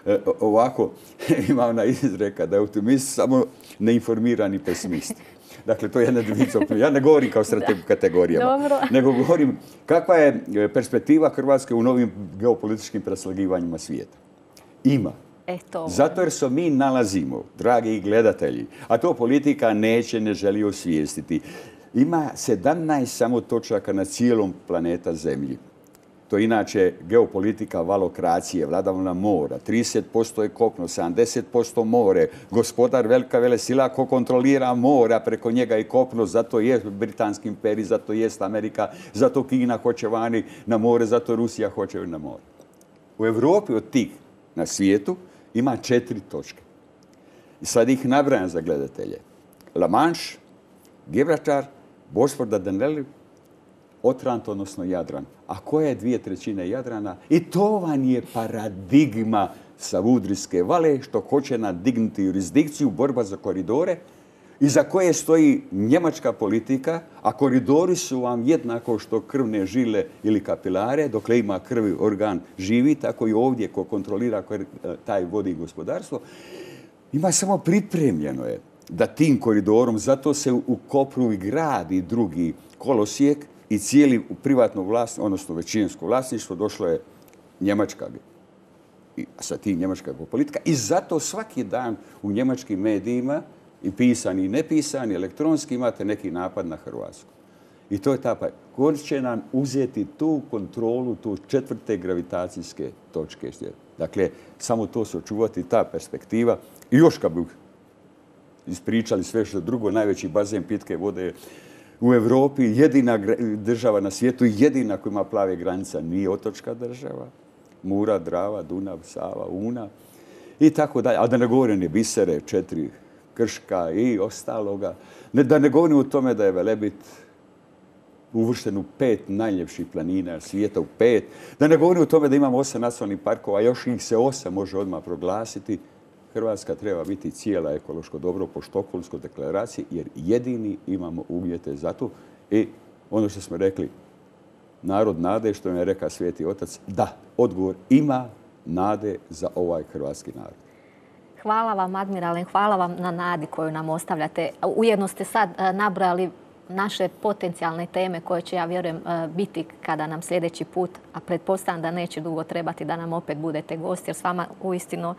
E, ovako, ima ona izreka da je optimist samo neinformirani pesimist. Dakle, to je jedna dvica. Ja ne govorim kao strategu kategorijama, Dobro. nego govorim kakva je perspektiva Hrvatske u novim geopolitičkim preslagivanjima svijeta. Ima. E, to... Zato jer se mi nalazimo, dragi gledatelji, a to politika neće, ne želi osvijestiti. Ima sedamnaest samo točaka na cijelom planeta Zemlji. To je inače geopolitika valokracije, vladavina mora. trideset posto je kopno, sedamdeset posto more. Gospodar velika velesila ko kontrolira mora, preko njega i kopno. Zato je Britanski imperij, zato jest Amerika, zato Kina hoće vani na more, zato Rusija hoće na more. U Europi od tih na svijetu ima četiri točke. I sad ih nabrajam za gledatelje. La Manche, Gibraltar, Bosfor, Dardaneli, Otrant, odnosno Jadran. A koja je dvije trećine Jadrana? I to vam je paradigma Savudrijske vale, što hoće nadignuti jurisdikciju, borba za koridore, iza koje stoji njemačka politika, a koridori su vam jednako što krvne žile ili kapilare, dokle ima krvi organ živi, tako i ovdje ko kontrolira taj vodi gospodarstvo. Ima samo pripremljeno je da tim koridorom, zato se u Kopru i gradi drugi kolosijek i cijeli u privatno vlasništvo, odnosno većinsko vlasništvo, došlo je Njemačka. I sa tim njemačka politika. I zato svaki dan u njemačkim medijima, i pisani i nepisani, elektronski, imate neki napad na Hrvatsku. I to je ta pa. Ko će nam uzeti tu kontrolu, tu četvrte gravitacijske točke. Dakle, samo to se očuvati, ta perspektiva. I još kad bi ispričali sve što drugo, najveći bazen pitke vode u Europi, jedina država na svijetu, jedina koja ima plave granica, nije otočka država. Mura, Drava, Dunav, Sava, Una i tako dalje. A da ne govorim ni Bisere, četiri Krška i ostaloga. Ne, da ne govorim o tome da je Velebit uvršten u pet najljepših planina svijeta, u pet. Da ne govorim o tome da imamo osam nacionalnih parkova, a još ih se osam može odmah proglasiti. Hrvatska treba biti cijela ekološko dobro po Štokholmskoj deklaraciji, jer jedini imamo uvjete za to. I ono što smo rekli, narod nade, što je rekao Sveti Otac, da, odgovor ima nade za ovaj hrvatski narod. Hvala vam, admirale, hvala vam na nadi koju nam ostavljate. Ujedno ste sad nabrojali naše potencijalne teme koje će, ja vjerujem, biti kada nam sljedeći put, a pretpostavljam da neće dugo trebati da nam opet budete gosti, jer s vama uistinu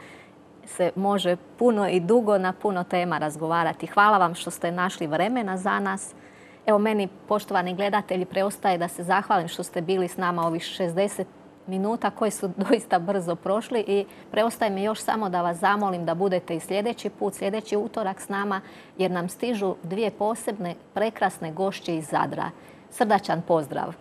se može puno i dugo na puno tema razgovarati. Hvala vam što ste našli vremena za nas. Evo, meni, poštovani gledatelji, preostaje da se zahvalim što ste bili s nama ovih šezdeset minuta koji su doista brzo prošli i preostaje mi još samo da vas zamolim da budete i sljedeći put, sljedeći utorak s nama, jer nam stižu dvije posebne prekrasne gošće iz Zadra. Srdačan pozdrav!